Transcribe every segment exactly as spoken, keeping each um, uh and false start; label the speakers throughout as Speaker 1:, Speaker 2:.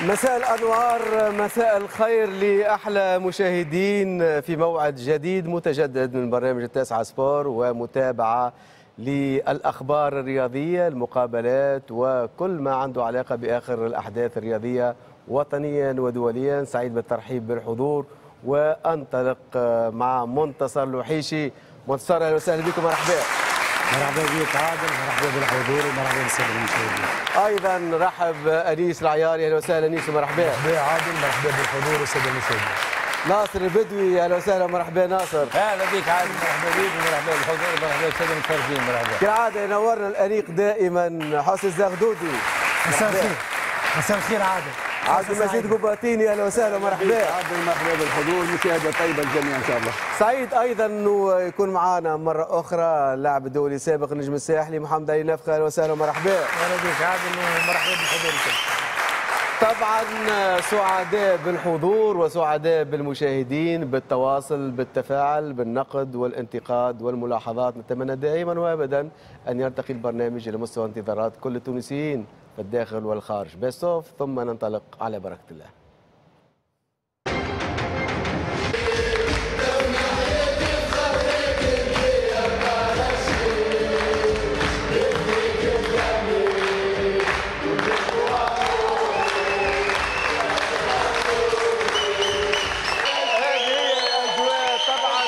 Speaker 1: مساء الأنوار، مساء الخير لأحلى مشاهدين في موعد جديد متجدد من برنامج التاسعة سبور ومتابعة للأخبار الرياضية، المقابلات وكل ما عنده علاقة بآخر الأحداث الرياضية وطنيا ودوليا. سعيد بالترحيب بالحضور وأنطلق مع منتصر الوحيشي. منتصر، أهلا وسهلا بكم، مرحبا.
Speaker 2: مرحبا بك عادل، مرحبا بالحضور ومرحبا بالساده المشاهدين.
Speaker 1: ايضا رحب انيس العياري، اهلا وسهلا انيس ومرحبا.
Speaker 3: مرحبا عادل، مرحبا بالحضور والسادة المشاهدين.
Speaker 1: ناصر البدوي، اهلا وسهلا ومرحبا ناصر.
Speaker 4: اهلا بك عادل، مرحبا بك ومرحبا بالحضور ومرحبا بالساده المتفرجين. مرحبا.
Speaker 1: كالعادة ينورنا الانيق دائما حسن الزغدودي.
Speaker 2: مساء الخير. مساء الخير عادل.
Speaker 1: عبد المجيد قباطيني، اهلا وسهلا ومرحبا.
Speaker 5: عادل، مرحبا بالحضور، مشاهده طيبة للجميع ان شاء الله.
Speaker 1: سعيد ايضا انه يكون معنا مرة اخرى اللاعب الدولي السابق النجم الساحلي محمد علي نفخه، اهلا وسهلا ومرحبا.
Speaker 6: اهلا بك عادل ومرحبا بالحضور الكل.
Speaker 1: طبعا سعداء بالحضور وسعداء بالمشاهدين، بالتواصل، بالتفاعل، بالنقد والانتقاد والملاحظات. نتمنى دائما وابدا ان يرتقي البرنامج الى مستوى انتظارات كل التونسيين في الداخل والخارج. best of ثم ننطلق على بركة الله. هذه الأجواء. طبعا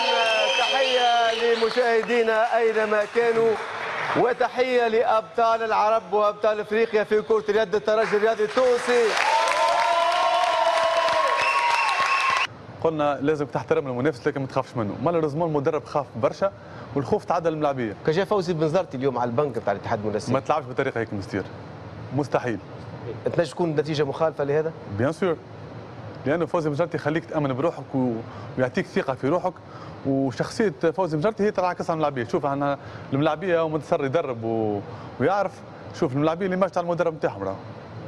Speaker 1: تحية لمشاهدينا أينما كانوا، وتحية لأبطال العرب وأبطال أفريقيا في كرة اليد الترجي الرياضي التونسي.
Speaker 7: قلنا لازم تحترم المنافس لكن ما تخافش منه، malheureusement المدرب خاف برشا والخوف تعدى الملاعبيه.
Speaker 1: كجا فوزي بنزرتي اليوم على البنك بتاع الاتحاد المنستيري.
Speaker 7: ما تلعبش بطريقة هيك مستير، مستحيل.
Speaker 1: تنجم تكون نتيجة مخالفة لهذا؟
Speaker 7: bien sûr، لانه فوزي بنزرتي يخليك تامن بروحك و... ويعطيك ثقة في روحك، وشخصية فوزي بنزرتي هي تنعكس على الملاعبيه. شوف احنا الملاعبيه ومنتصر يدرب و... ويعرف، شوف الملاعبيه اللي ماشي على المدرب نتاعهم راه.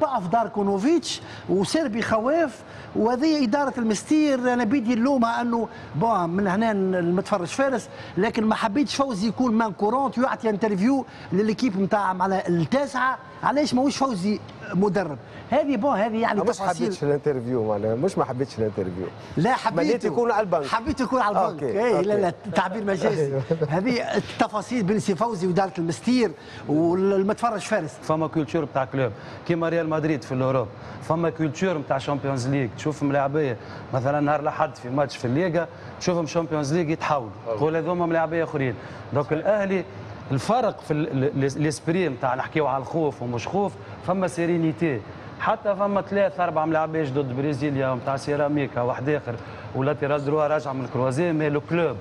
Speaker 8: ضعف داركونوفيتش وسيربي خواف، وهذه ادارة المستير انا بيدي نلومها انه bon من هنا المتفرج فارس، لكن ما حبيتش فوزي يكون main courante ويعطي interview ل l'équipe نتاع على التاسعة. علاش ماهوش فوزي مدرب؟ هذه bon هذه يعني
Speaker 1: مش حبيتش ال interview، معناها مش ما حبيتش ال interview،
Speaker 8: لا حبيت
Speaker 1: يكون على البنك،
Speaker 8: حبيت يكون على البنك. اي لا لا تعبير مجازي. هذه التفاصيل بين سي فوزي واداره المستير والمتفرج فارس.
Speaker 2: فما culture بتاع club كيما ريال مدريد في l'Europe، فما culture نتاع Champions League. تشوف ملاعبيه مثلا نهار الاحد في ماتش في الليغا تشوفهم Champions League يتحولوا، تقول هذوما ملاعبيه اخرين. donc الاهلي الفرق في l'esprit نتاع نحكيو على الخوف ومش خوف، فما sérénité. حتى فما ثلاث اربع ملاعبيه ضد برازيليا نتاع سيراميكا واحد اخر و latéral droit راجع من ال croisés، mais le club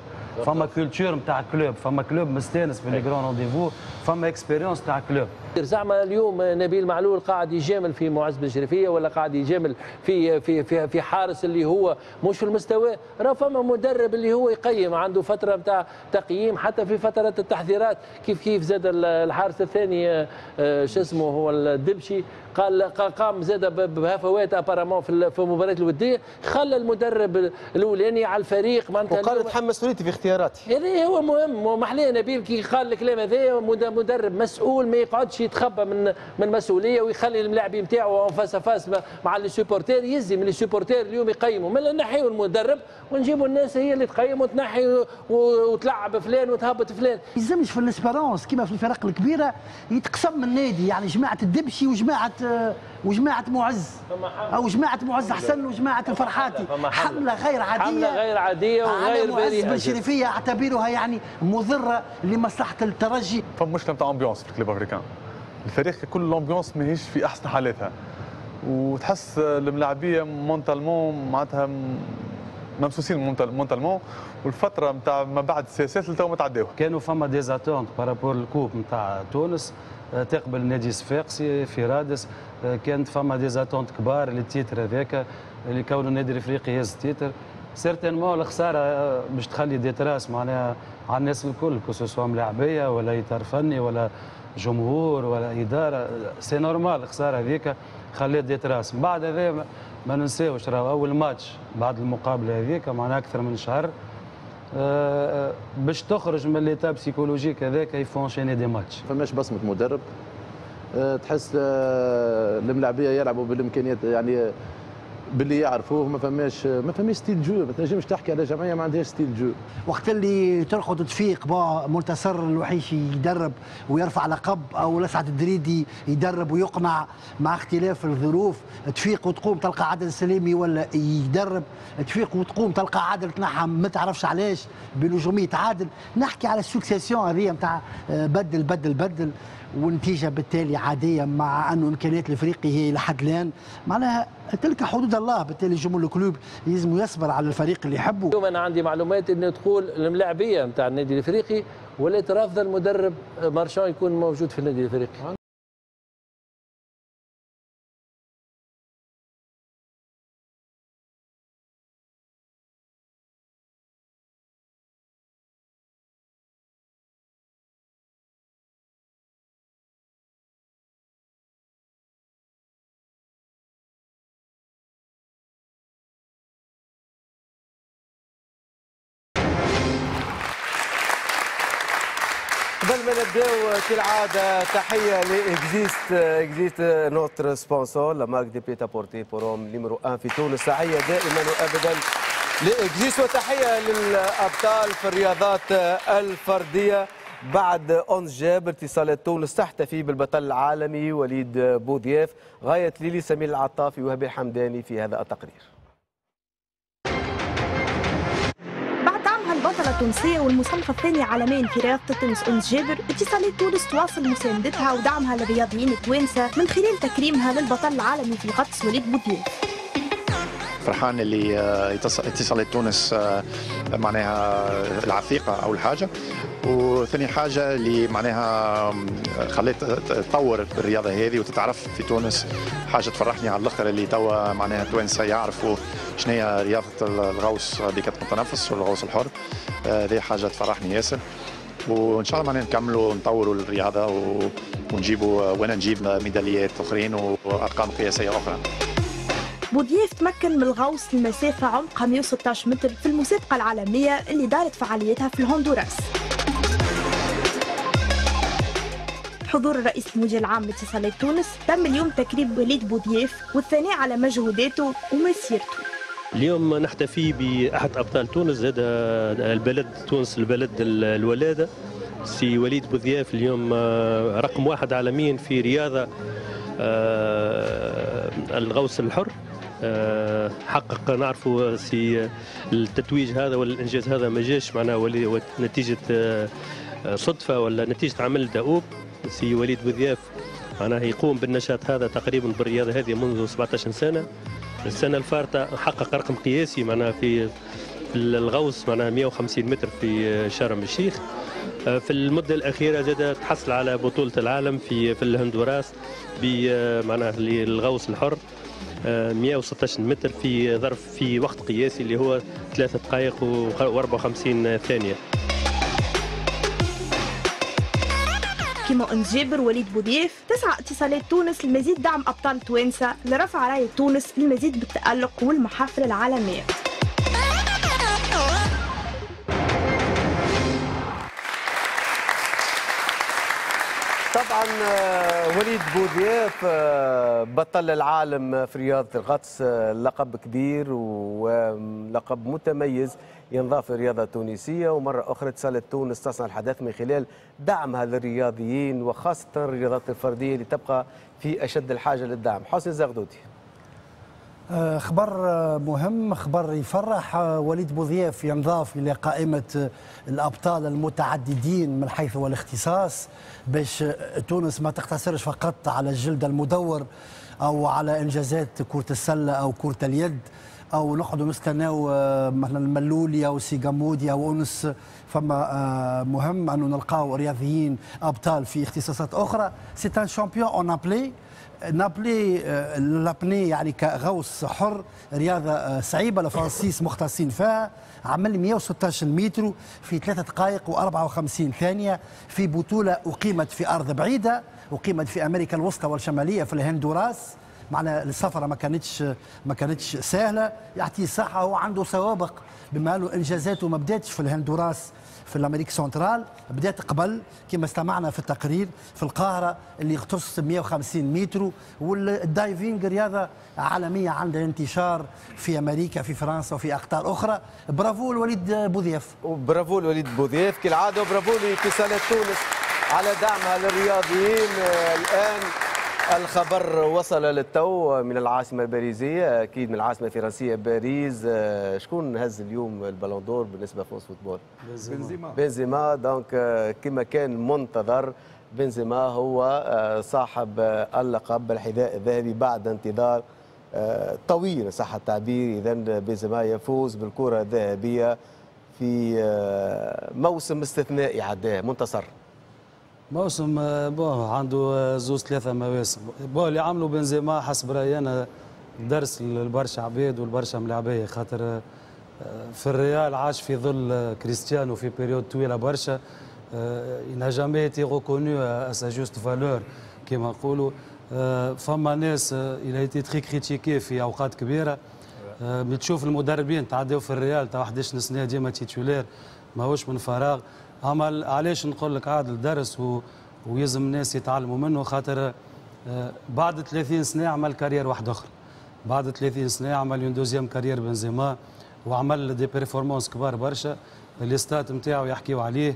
Speaker 2: فما culture نتاع club، فما club مستانس في les grands rendez-vous، فما expérience تاع club.
Speaker 9: زعما اليوم نبيل معلول قاعد يجامل في معز بن شريفيه ولا قاعد يجامل في في في في حارس اللي هو مش في المستوى؟ راه فما مدرب اللي هو يقيم، عنده فترة نتاع تقييم حتى في فترة التحضيرات. كيف كيف زاد الحارس الثاني شو اسمه هو الدبشي، قال قام زاد بهفوات apparemment في في المباريات الودية، خلى المدرب الاولاني على الفريق
Speaker 1: معناتها وقال اتحمل مسؤوليتي في اختياراتي.
Speaker 9: هذا هو مهم ومحليه نبيل كي قال الكلام هذا، مدرب مسؤول ما يقعدش يتخبى من من مسؤولية ويخلي الملاعبين نتاعو en face à face مع les supporters. يزي من les supporters اليوم يقيموا، من نحيوا المدرب ونجيبوا الناس هي اللي تقيم وتنحي وتلعب فلان وتهبط فلان.
Speaker 8: ما يلزمش في l'Espérance كيما في الفرق الكبيرة يتقسم النادي، يعني جماعة الدبشي وجماعه وجماعه معز او جماعة معز حسن وجماعه الفرحاتي. حمله غير عادية،
Speaker 9: حمله غير عادية وغير
Speaker 8: بريئة. معز بن شريفيه اعتبرها يعني مضرة لمصلحة الترجي.
Speaker 7: فما مشكلة نتاع ambiance في ال Club Africain، الفريق كل l'ambiance ماهيش في احسن حالاتها، وتحس الملاعبيه mentalement معناتها ممسوسين mentalement، والفترة نتاع ما بعد السياسات اللي تو ما تعداوها.
Speaker 2: كانوا فما des attentes par rapport ال coupe نتاع تونس تقبل النادي الصفاقسي في رادس، كانت فما des attentes كبار لل titre هذاك اللي كونه النادي الافريقي يهز ال titre. certainement الخسارة باش تخلي des traces معناها على الناس الكل، que ce soit ملاعبيه ولا اطار فني ولا جمهور ولا ادارة، c'est normal الخسارة هذيك خلات des traces. من بعد هذا ما ننساوش راه اول ماتش بعد المقابلة هذيك معناها اكثر من شهر باش تخرج من l'état psychologique هذاك il faut enchaîner des matchs.
Speaker 5: فماش بصمة مدرب،
Speaker 10: تحس الملاعبيه يلعبوا بالامكانيات يعني باللي يعرفوه، ما فماش ما فماش style de jeu، ما تنجمش تحكي على جمعية ما عندهاش style de jeu.
Speaker 8: وقت اللي ترقد تفيق با منتصر الوحيشي يدرب ويرفع لقب، او لسعد الدريدي يدرب ويقنع مع اختلاف الظروف، تفيق وتقوم تلقى عادل السليمي ولا يدرب، تفيق وتقوم تلقى عادل تنحى ما تعرفش علاش بنجوميه عادل. نحكي على ال succession هذه نتاع بدل بدل بدل، والنتيجة بالتالي عادية، مع انه امكانيات الافريقي هي لحد الان معناها تلك حدود الله. بالتالي جمهور ال club لازم يصبر على الفريق اللي يحبه.
Speaker 9: اليوم انا عندي معلومات انه تقول الملاعبيه نتاع النادي الافريقي ولات رافضه المدرب مارشان يكون موجود في النادي الافريقي.
Speaker 1: قبل ما نبداو كالعادة تحية ل Exist، Exist notre sponsor la marque de prêt-à-porter pour hommes numéro واحد في تونس. تحية دائما وابدا ل Exist، وتحية للابطال في الرياضات الفردية. بعد أنس جابر اتصالات تونس تحتفي بالبطل العالمي وليد بوضياف. غاية ليلي سمير العطافي وهبي الحمداني في هذا التقرير.
Speaker 11: البطلة التونسية والمصنفة الثانية عالميا في رياضة التنس أنس جابر، اتصالات تونس تواصل مساندتها ودعمها للرياضيين التوانسة من خلال تكريمها للبطل العالمي في الغطس وليد بوضياف.
Speaker 12: فرحان اللي اتصالات تونس معناها العثيقة أول حاجة، وثاني حاجة اللي معناها خلت تطور الرياضة هذه وتتعرف في تونس، حاجة تفرحني على الآخر اللي توا معناها التوانسة يعرفوا شنو هي رياضة الغوص بكتم التنفس والغوص الحر. هذه حاجة تفرحني ياسر، وإن شاء الله معناها نكملوا نطوروا الرياضة ونجيبوا وانا نجيب ميداليات أخرين وأرقام قياسية أخرى.
Speaker 11: بوضياف تمكن من الغوص لمسافة عمقها مئة وستة عشر متر في المسابقة العالمية اللي دارت فعاليتها في الهندوراس. بحضور الرئيس المدير العام لاتصالات تونس تم اليوم تكريم وليد بوضياف والثناء على مجهوداته ومسيرته.
Speaker 13: اليوم نحتفي بأحد أبطال تونس، هذا البلد تونس البلد الولادة، سي وليد بوضياف اليوم رقم واحد عالميا في رياضة الغوص الحر. حقق نعرفوا سي التتويج هذا والانجاز هذا ما جاش معناه نتيجة صدفة ولا نتيجة عمل دؤوب. سي وليد بوضياف معناه يقوم بالنشاط هذا تقريبا بالرياضة هذه منذ سبعة عشر سنة. السنة الفارطه حقق رقم قياسي معناها في الغوص معناها مئة وخمسين متر في شرم الشيخ. في المدة الاخيرة زاد تحصل على بطوله العالم في في الهندوراس بمعناها للغوص الحر مئة وستة عشر متر في ظرف في وقت قياسي اللي هو ثلاثة دقائق وأربعة وخمسين ثانية.
Speaker 11: كما أنس جابر وليد بوضياف تسعى اتصالات تونس لمزيد دعم أبطال توانسة لرفع راية تونس للمزيد بالتألق والمحافل العالمية.
Speaker 1: طبعا وليد بوضياف بطل العالم في رياضة الغطس، لقب كبير ولقب متميز ينضاف للرياضة التونسية. ومرة أخرى اتصالات تونس تصنع الحدث من خلال دعمها للرياضيين وخاصة الرياضات الفردية اللي تبقى في أشد الحاجة للدعم. حسن زغدودي،
Speaker 8: خبر مهم، خبر يفرح. وليد بوضياف ينضاف إلى قائمة الأبطال المتعددين من حيث هو الاختصاص، باش تونس ما تقتصرش فقط على الجلد المدور أو على إنجازات كرة السلة أو كرة اليد، أو نقعدوا نستناو مثلا الملولي أو سيغامودي أو أنس. فما مهم أنه نلقاو رياضيين أبطال في اختصاصات أخرى. c'est un champion en apnée apnée l'apnée يعني كغوص حر، رياضة صعيبة الفرنسيس مختصين فيها. عمل مئة وستة عشر متر في ثلاثة دقائق وأربعة وخمسين ثانية في بطوله اقيمت في ارض بعيدة، اقيمت في امريكا الوسطى والشماليه في الهندوراس. معناها السفرة ما كانتش ما كانتش سهلة. يعطيه الصحة، هو عنده سوابق بما انه انجازاته ما بداتش في الهندوراس في l'Amérique centrale، بدات قبل كما استمعنا في التقرير في القاهرة اللي اغتص مئة وخمسين متر. وال diving رياضة عالمية عندها انتشار في امريكا في فرنسا وفي اقطار اخرى. برافو الوليد بوذياف،
Speaker 1: برافو الوليد بوذياف كالعادة، وبرافو لاتصالات تونس على دعمها للرياضيين. الان الخبر وصل للتو من العاصمة الباريزية، أكيد من العاصمة الفرنسية باريس. شكون هز اليوم ال Ballon d'Or بالنسبة France Football؟
Speaker 5: بنزيما.
Speaker 1: بنزيما، donc كما كان منتظر بنزيما هو صاحب اللقب بالحذاء الذهبي بعد انتظار طويل صح التعبير. إذا بنزيما يفوز بالكرة الذهبية في موسم استثنائي عداه منتصر.
Speaker 2: موسم bon عنده زوز ثلاثة مواسم. bon اللي عملوا بنزيما حسب رأيي أنا درس للبرشا عباد والبرشا ملاعبية، خاطر في الريال عاش في ظل كريستيانو في période طويلة برشا. il n'a jamais été reconnu à sa juste valeur كما نقولوا. فما ناس il a été très critiqué في أوقات كبيرة. بتشوف المدربين تعداو في الريال تاع أحد عشر سنة ديما titulaire، ماهوش من فراغ. اما علاش نقول لك عادل درس و... ويلزم الناس يتعلموا منه، خاطر بعد ثلاثين سنة عمل carrière واحدة اخرى، بعد ثلاثين سنة عمل une deuxième carrière بنزيما، وعمل des performances كبار برشا. les stats نتاعو يحكيو عليه.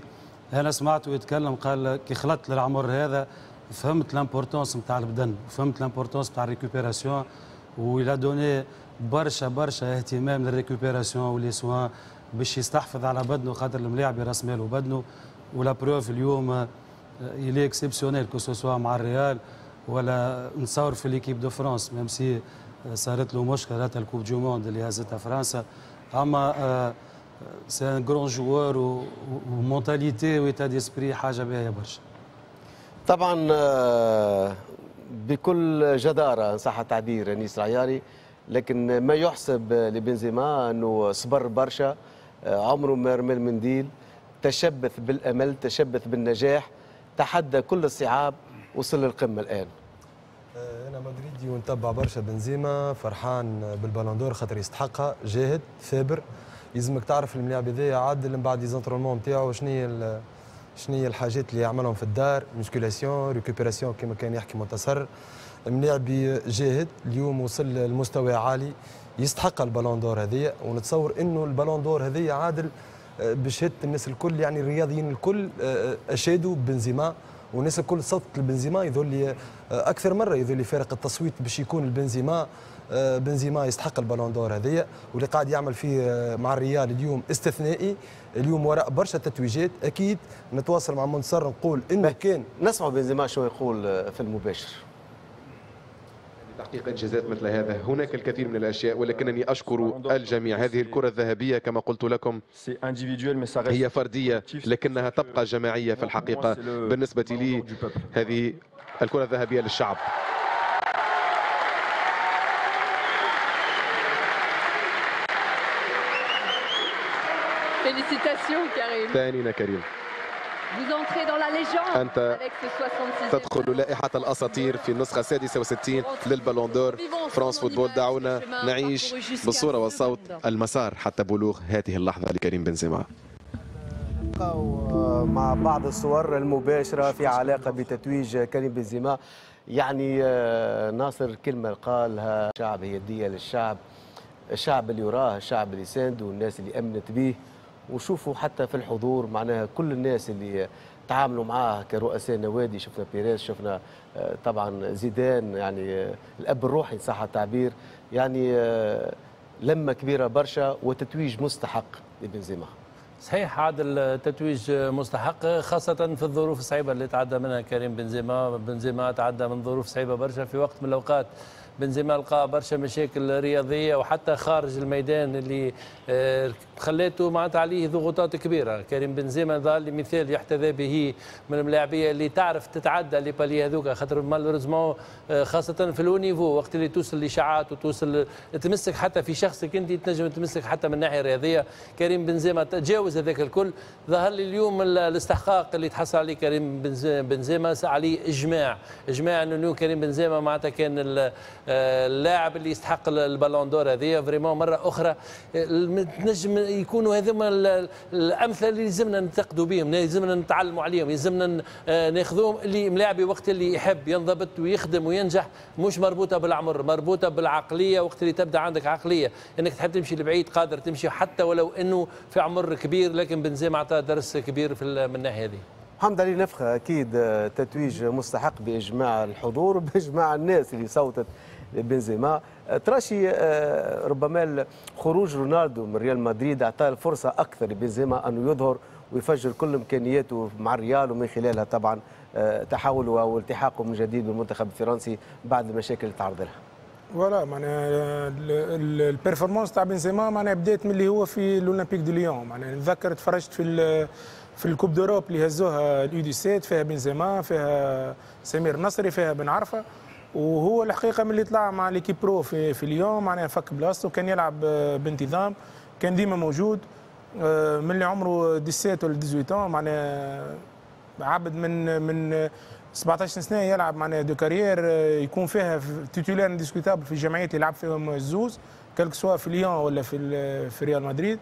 Speaker 2: انا سمعته يتكلم قال كي خلطت للعمر هذا فهمت l'importance نتاع البدن، فهمت l'importance نتاع ال récupération، و il a donné برشا برشا اهتمام لل récupération و les soins باش يستحفظ على بدنه، خاطر الملاعب راس ماله بدنه. و la preuve اليوم il est exceptionnel que ce soit مع الريال ولا نتصور في l'équipe de France، même si صارت له مشكلة ال Coupe du Monde اللي هزتها فرنسا. اما c'est un grand joueur و mentalité و état d'esprit حاجة باهيه برشا.
Speaker 1: طبعا بكل جداره ان صح التعبير انيس العياري، لكن ما يحسب لبنزيما انه صبر برشا، عمره ما رمى المنديل، تشبث بالامل، تشبث بالنجاح، تحدى كل الصعاب، وصل للقمه الان.
Speaker 3: انا مدريدي ونتبع برشا بنزيما، فرحان بال Ballon d'Or خاطر يستحقها، جاهد ثابر. يلزمك تعرف الملاعب هذايا عادل من بعد les entraînements نتاعو شنو هي شنو هي الحاجات اللي يعملهم في الدار، musculation، récupération كما كان يحكي منتصر. ملاعبي جاهد اليوم وصل لمستوى عالي، يستحق ال Ballon d'Or هذه. ونتصور انه ال Ballon d'Or هذه عادل بشهادة الناس الكل، يعني الرياضيين الكل اشادوا ببنزيما والناس الكل صوتت لبنزيما. يظل لي اكثر مرة يظل لي فارق التصويت باش يكون البنزيما، بنزيما يستحق ال Ballon d'Or هذه. واللي قاعد يعمل فيه مع الريال اليوم استثنائي، اليوم وراء برشا تتويجات. اكيد نتواصل مع منتصر نقول انه كان
Speaker 1: نسمع بنزيما شو يقول في المباشر.
Speaker 14: تحقيق إنجازات مثل هذا هناك الكثير من الأشياء، ولكنني أشكر الجميع. هذه الكرة الذهبية كما قلت لكم هي فردية لكنها تبقى جماعية في الحقيقة. بالنسبة لي هذه الكرة الذهبية للشعب. ثانينا كريم، أنت تدخل لائحة الأساطير في النسخة السادسة وستين لل Ballon d'Or France Football. دعونا نعيش بالصورة والصوت المسار حتى بلوغ هذه اللحظة لكريم بنزيما.
Speaker 1: مع بعض الصور المباشرة في علاقة بتتويج كريم بنزيما، يعني ناصر كلمة قالها الشعب هي هدية للشعب، الشعب اللي وراه، الشعب اللي سانده، والناس اللي أمنت به. وشوفوا حتى في الحضور معناها كل الناس اللي تعاملوا معاه كرؤساء نوادي، شفنا بيريز، شفنا طبعا زيدان، يعني الاب الروحي صح التعبير، يعني لمه كبيرة برشا وتتويج مستحق لبنزيما.
Speaker 9: صحيح عادل، تتويج مستحق خاصة في الظروف الصعيبة اللي تعدى منها كريم بنزيما. بنزيما تعدى من ظروف صعيبة برشا في وقت من الأوقات. بنزيما لقى برشا مشاكل رياضية وحتى خارج الميدان اللي خليته معناتها عليه ضغوطات كبيرة. كريم بنزيما ظل مثال يحتذى به من الملاعبيه اللي تعرف تتعدى les paliers هذوك، خاطر malheureusement خاصة في le niveau وقت اللي توصل لاشاعات وتوصل تمسك حتى في شخصك انت، تنجم تمسك حتى من الناحية الرياضية. كريم بنزيما تجاوز هذاك الكل. ظهر لي اليوم الاستحقاق اللي تحصل عليه كريم بنزيما عليه اجماع، اجماع انه كريم بنزيما معناتها كان اللاعب اللي يستحق ال Ballon d'Or هذه vraiment مرة اخرى تنجم يكونوا هذوما الامثلة اللي لازمنا ننتقدوا بهم، لازمنا نتعلموا عليهم، لازمنا ناخذوهم. اللي ملاعبي وقت اللي يحب ينضبط ويخدم وينجح، مش مربوطة بالعمر، مربوطة بالعقليه. وقت اللي تبدا عندك عقلية انك تحب تمشي لبعيد قادر تمشي حتى ولو انه في عمر كبير، لكن بنزيما اعطى درس كبير في من الناحية هذه.
Speaker 1: محمد علي نفخه، اكيد تتويج مستحق باجماع الحضور وباجماع الناس اللي صوتت بنزيما. تراشي ربما خروج رونالدو من ريال مدريد اعطاه الفرصة اكثر لبنزيما انه يظهر ويفجر كل امكانياته مع الريال، ومن خلالها طبعا تحوله والتحاقه من جديد بالمنتخب الفرنسي بعد المشاكل اللي تعرض لها.
Speaker 6: voilà معناها ال performance تاع بنزيما معناها بدات من اللي هو في l'Olympique de Lyon. معناها نتذكر تفرجت في في ال Coupe d'Europe اللي هزوها ال U dix-sept، فيها بنزيما، فيها سمير نصري، فيها بن عرفه، وهو الحقيقة من اللي طلع مع l'équipe pro في في ليون معناها فك بلاصته، كان يلعب بانتظام، كان ديما موجود من اللي عمره سبعطاش ولا ثمنطاش، معناها عبد من من سبعطاش سنة يلعب معناها de carrière يكون فيها titulaire indiscutable في الجمعيات اللي يلعب فيهم الزوز، quel que soit في ليون ولا في في ريال مدريد.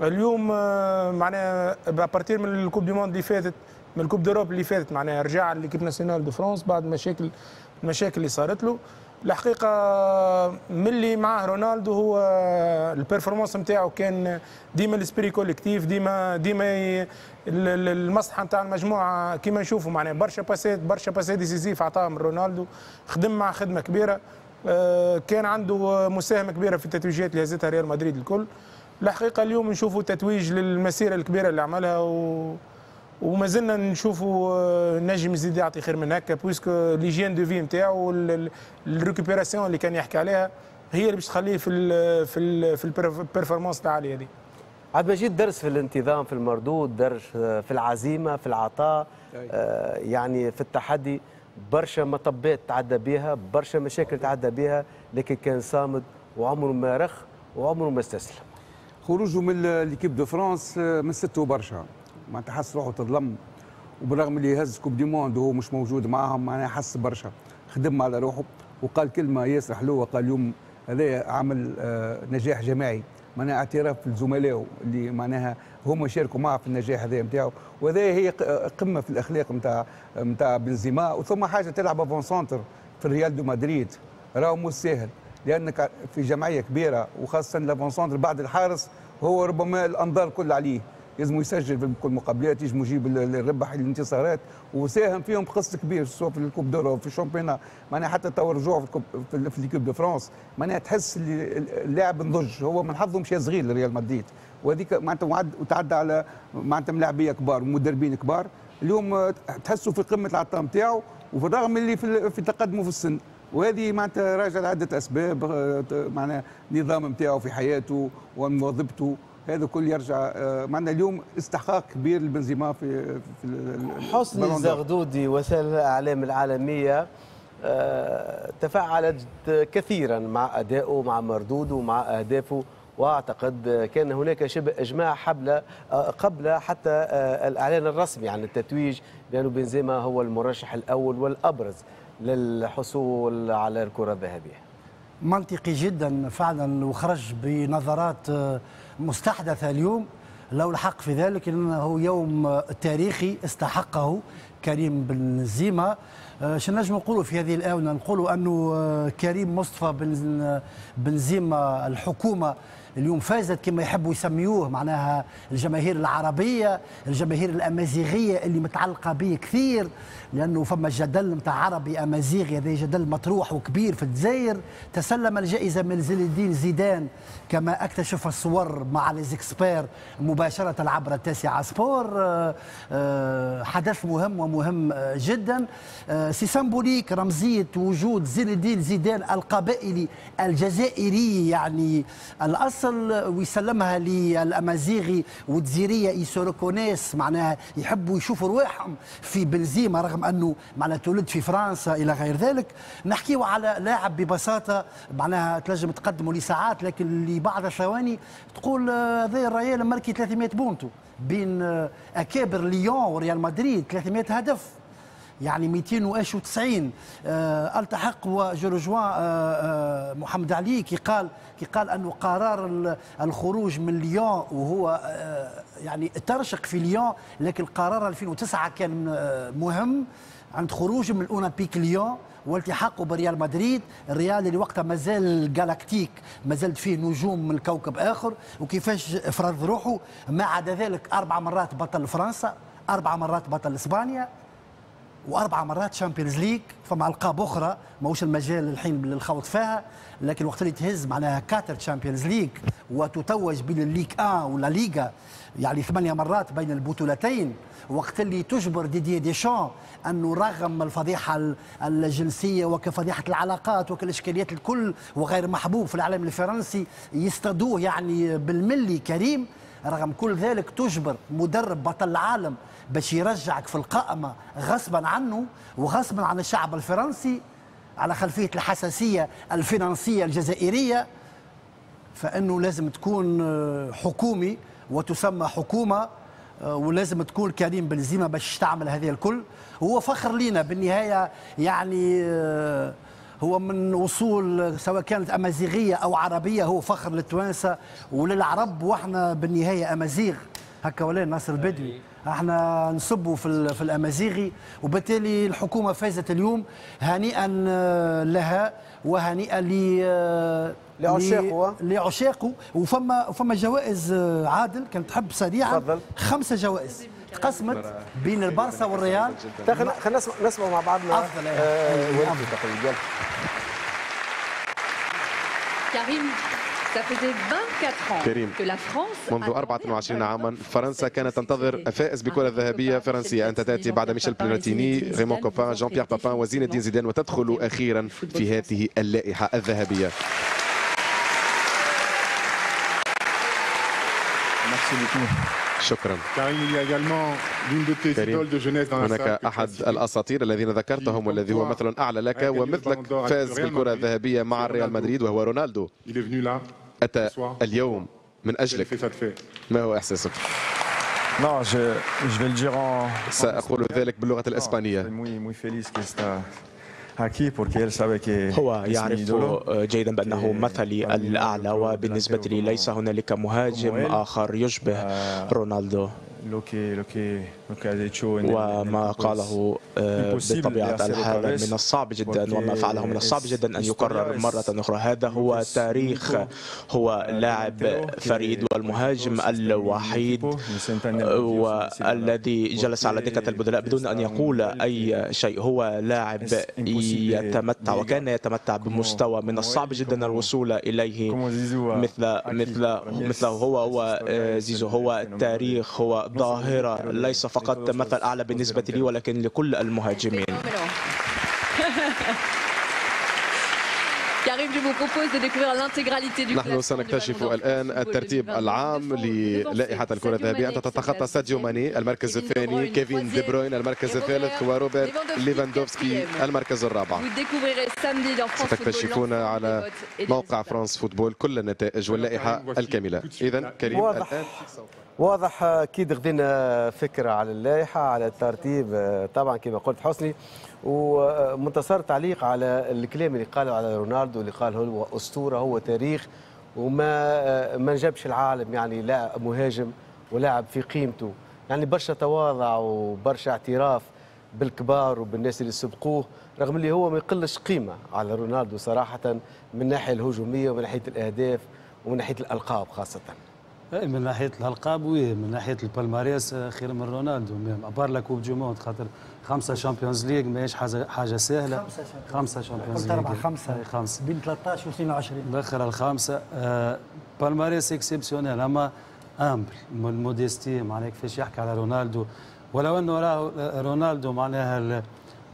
Speaker 6: اليوم معناها à partir من ال Coupe du monde اللي فاتت، من ال Coupe d'Europe اللي فاتت، معناها رجع l'équipe nationale de France بعد مشاكل المشاكل اللي صارت له. الحقيقة ملي معاه رونالدو هو ال performance نتاعو كان ديما l'esprit collectif، ديما ديما المصلحة نتاع المجموعة كيما نشوفوا، معناها برشا passes برشا passes décisives عطاهم رونالدو، خدم مع خدمة كبيرة، كان عنده مساهمة كبيرة في التتويجات اللي هزتها ريال مدريد الكل. الحقيقة اليوم نشوفوا تتويج للمسيره الكبيرة اللي عملها، و وما زلنا نشوفوا نجم يزيد يعطي خير من هكا، puisque l'hygiène de vie نتاعو ال récupération اللي كان يحكي عليها هي اللي باش تخليه في ال في ال في ال performance العالية هذه.
Speaker 1: عبد المجيد، درس في الانتظام، في المردود، درس في العزيمة، في العطاء، آه يعني في التحدي، برشا مطبات تعدى بها، برشا مشاكل تعدى بها، لكن كان صامد وعمره ما رخ وعمره ما استسلم.
Speaker 5: خروجه من l'équipe de France مسته برشا، معناتها حس روحه تظلم، وبالرغم اللي هز Coupe du monde وهو مش موجود معاهم معناها حس برشا، خدم على روحه وقال كلمة ياسر حلوة، قال اليوم هذا عمل نجاح جماعي، معناها اعتراف لزملائه اللي معناها هما شاركوا معه في النجاح هذا نتاعو، وهذا هي قمة في الاخلاق نتاع نتاع بنزيما. وثم حاجة تلعب avant-centre في الريال دو مدريد راهو مش ساهل، لانك في جمعية كبيرة وخاصة l'avant-centre بعد الحارس هو ربما الانظار كل عليه، لازم يسجل في كل المقابلات، يجم يجيب الربح الانتصارات، وساهم فيهم بقسط كبير سواء في ال Coupe d'Europe في ال championnat، معناها حتى تو رجوعه في ال coupe في l'équipe de France، معناها تحس اللي اللاعب نضج، هو من حظه مشى صغير لريال مدريد، وهذيك معناتها وتعدى على معناتها ملاعبيه كبار ومدربين كبار، اليوم تحسه في قمة العطاء نتاعو، وفي الرغم اللي في, في تقدمه في السن، وهذه معناتها راجع لعدة اسباب، معناها النظام نتاعو في حياته ومواظبته، هذا كل يرجع معنا اليوم استحقاق كبير لبنزيما في في
Speaker 1: حسني الزغدودي. وسائل الاعلام العالمية تفاعلت كثيرا مع ادائه، مع مردودة، مع اهدافه، واعتقد كان هناك شبه اجماع حبل قبل حتى الاعلان الرسمي عن التتويج بأن بنزيما هو المرشح الاول والابرز للحصول على الكره الذهبية.
Speaker 8: منطقي جدا فعلا، وخرج بنظرات مستحدثة اليوم، لو الحق في ذلك انه يوم تاريخي استحقه كريم بنزيما. شنو نجم نقولوا في هذه الاونة؟ نقولوا انه كريم مصطفى بنزيما الحكومة اليوم فازت كما يحبوا يسميوه، معناها الجماهير العربية، الجماهير الأمازيغية اللي متعلقة به كثير، لأنه فما جدل نتاع عربي أمازيغي، هذا جدل مطروح وكبير في الجزائر. تسلم الجائزة من زين الدين زيدان كما اكتشف الصور مع les experts مباشرة عبر التاسعة سبور. حدث مهم ومهم جدا، c'est symbolique، رمزية وجود زين الدين زيدان القبائلي الجزائري يعني الأصل، ويسلمها للامازيغي والجزيريه ils se reconnaissent، معناها يحبوا يشوفوا رواحهم في بنزيما رغم انه معناها تولد في فرنسا الى غير ذلك. نحكيو على لاعب ببساطة معناها تنجم تقدمه لساعات، لكن لبعض الثواني تقول هذا الريال مركي ثلاثمئة بونتو بين اكابر ليون وريال مدريد، ثلاثمئة هدف. يعني مئتين وتسعين. آه التحق و je rejoins آه آه محمد علي كي قال كي قال انه قرار الخروج من ليون، وهو آه يعني ترشق في ليون، لكن قرار ألفين وتسعة كان آه مهم عند خروجه من الاولمبيك ليون والتحاقه بريال مدريد، الريال اللي وقتها مازال galactique، مازال فيه نجوم من كوكب اخر، وكيفاش فرض روحه. ما عدا ذلك اربع مرات بطل فرنسا، اربع مرات بطل اسبانيا، واربع مرات Champions League، فما القاب اخرى ماهوش المجال الحين للخوض فيها، لكن وقت اللي تهز معناها quatre Champions League وتتوج بين ال Ligue واحد ولا ليغا، يعني ثمانية مرات بين البطولتين، وقت اللي تجبر ديدي ديشان انه رغم الفضيحة الجنسية وكفضيحه العلاقات وكالاشكاليات الكل وغير محبوب في العالم الفرنسي يصطادوه يعني بالملي كريم، رغم كل ذلك تجبر مدرب بطل العالم باش يرجعك في القائمة غصبا عنه وغصبا عن الشعب الفرنسي على خلفية الحساسية الفرنسية الجزائرية، فإنه لازم تكون حكومي وتسمى حكومة، ولازم تكون كريم بنزيما باش تعمل هذه الكل. هو فخر لينا بالنهاية، يعني هو من أصول سواء كانت أمازيغية أو عربية، هو فخر للتوانسة وللعرب، وإحنا بالنهاية أمازيغ هكا ولا ناصر البدوي، احنا نصبوا في في الأمازيغي، وبالتالي الحكومة فازت اليوم، هنيئا لها وهنيئا ل
Speaker 1: لعشاقه
Speaker 8: لعشاقه. وفما فما جوائز عادل كانت تحب سريعا، خمسة جوائز تقسمت بين البارسا والريال.
Speaker 1: خلينا نسمع نسمع مع بعضنا
Speaker 8: افضل.
Speaker 1: آه
Speaker 15: كريم،
Speaker 14: كريم، منذ أربعة وعشرين عاما فرنسا كانت تنتظر فائز بكرة ذهبية فرنسية. أنت تأتي بعد ميشيل بلاتيني، ريمون كوبان، جان بيير بابان وزين الدين زيدان، وتدخل أخيرا في هذه اللائحة الذهبية. شكرا كريم. هناك أحد الأساطير الذين ذكرتهم والذي هو مثل أعلى لك ومثلك فاز بالكرة الذهبية مع الريال مدريد وهو رونالدو. أتى اليوم من أجلك، ما هو إحساسك؟ سأقول ذلك باللغة الإسبانية.
Speaker 16: هو يعرف جيدا بأنه مثلي الأعلى، وبالنسبة لي ليس هنالك مهاجم آخر يشبه رونالدو. وما قاله بطبيعة الحال من الصعب جدا، وما فعله من الصعب جدا أن يكرر مرة أخرى. هذا هو تاريخ، هو لاعب فريد والمهاجم الوحيد والذي جلس على دكة البدلاء بدون أن يقول أي شيء. هو لاعب يتمتع وكان يتمتع بمستوى من الصعب جدا الوصول إليه مثل مثل مثله هو. هو زيزو، هو تاريخ، هو ظاهرة، ليس فقط مثل أعلى بالنسبة لي ولكن لكل المهاجمين.
Speaker 14: نحن سنكتشف الآن الترتيب العام للائحة الكرة الذهبية. أنت تتخطى ساديو ماني المركز الثاني، كيفين دي بروين المركز الثالث، وروبرت ليفاندوفسكي المركز الرابع. ستكتشفون على موقع فرانس فوتبول كل النتائج واللائحة الكاملة. إذا كريم،
Speaker 1: واضح الآن واضح أكيد خذينا فكرة على اللائحة، على الترتيب طبعا كما قلت حسني، ومنتصر تعليق على الكلام اللي قاله على رونالدو، اللي قال هو أسطورة، هو تاريخ، وما ما جابش العالم يعني لا مهاجم ولاعب في قيمته، يعني برشا تواضع وبرشا اعتراف بالكبار وبالناس اللي سبقوه، رغم اللي هو ما يقلش قيمة على رونالدو صراحة من الناحية الهجومية ومن ناحية الأهداف ومن ناحية الألقاب خاصة.
Speaker 2: من ناحية الالقاب oui، من ناحية ال palmarès خير من رونالدو، à part la Coupe du Monde، خاطر خمسة Champions League ماهيش حاجة حاجة سهلة. خمسة Champions League،
Speaker 8: اربعة خمسة خمسة بين ثلاثة عشر و اثنين وعشرين
Speaker 2: الاخر الخامسة. آه palmarès exceptionnel، اما humble modestie معناها كيفاش يحكي على رونالدو، ولو انه راهو رونالدو معناها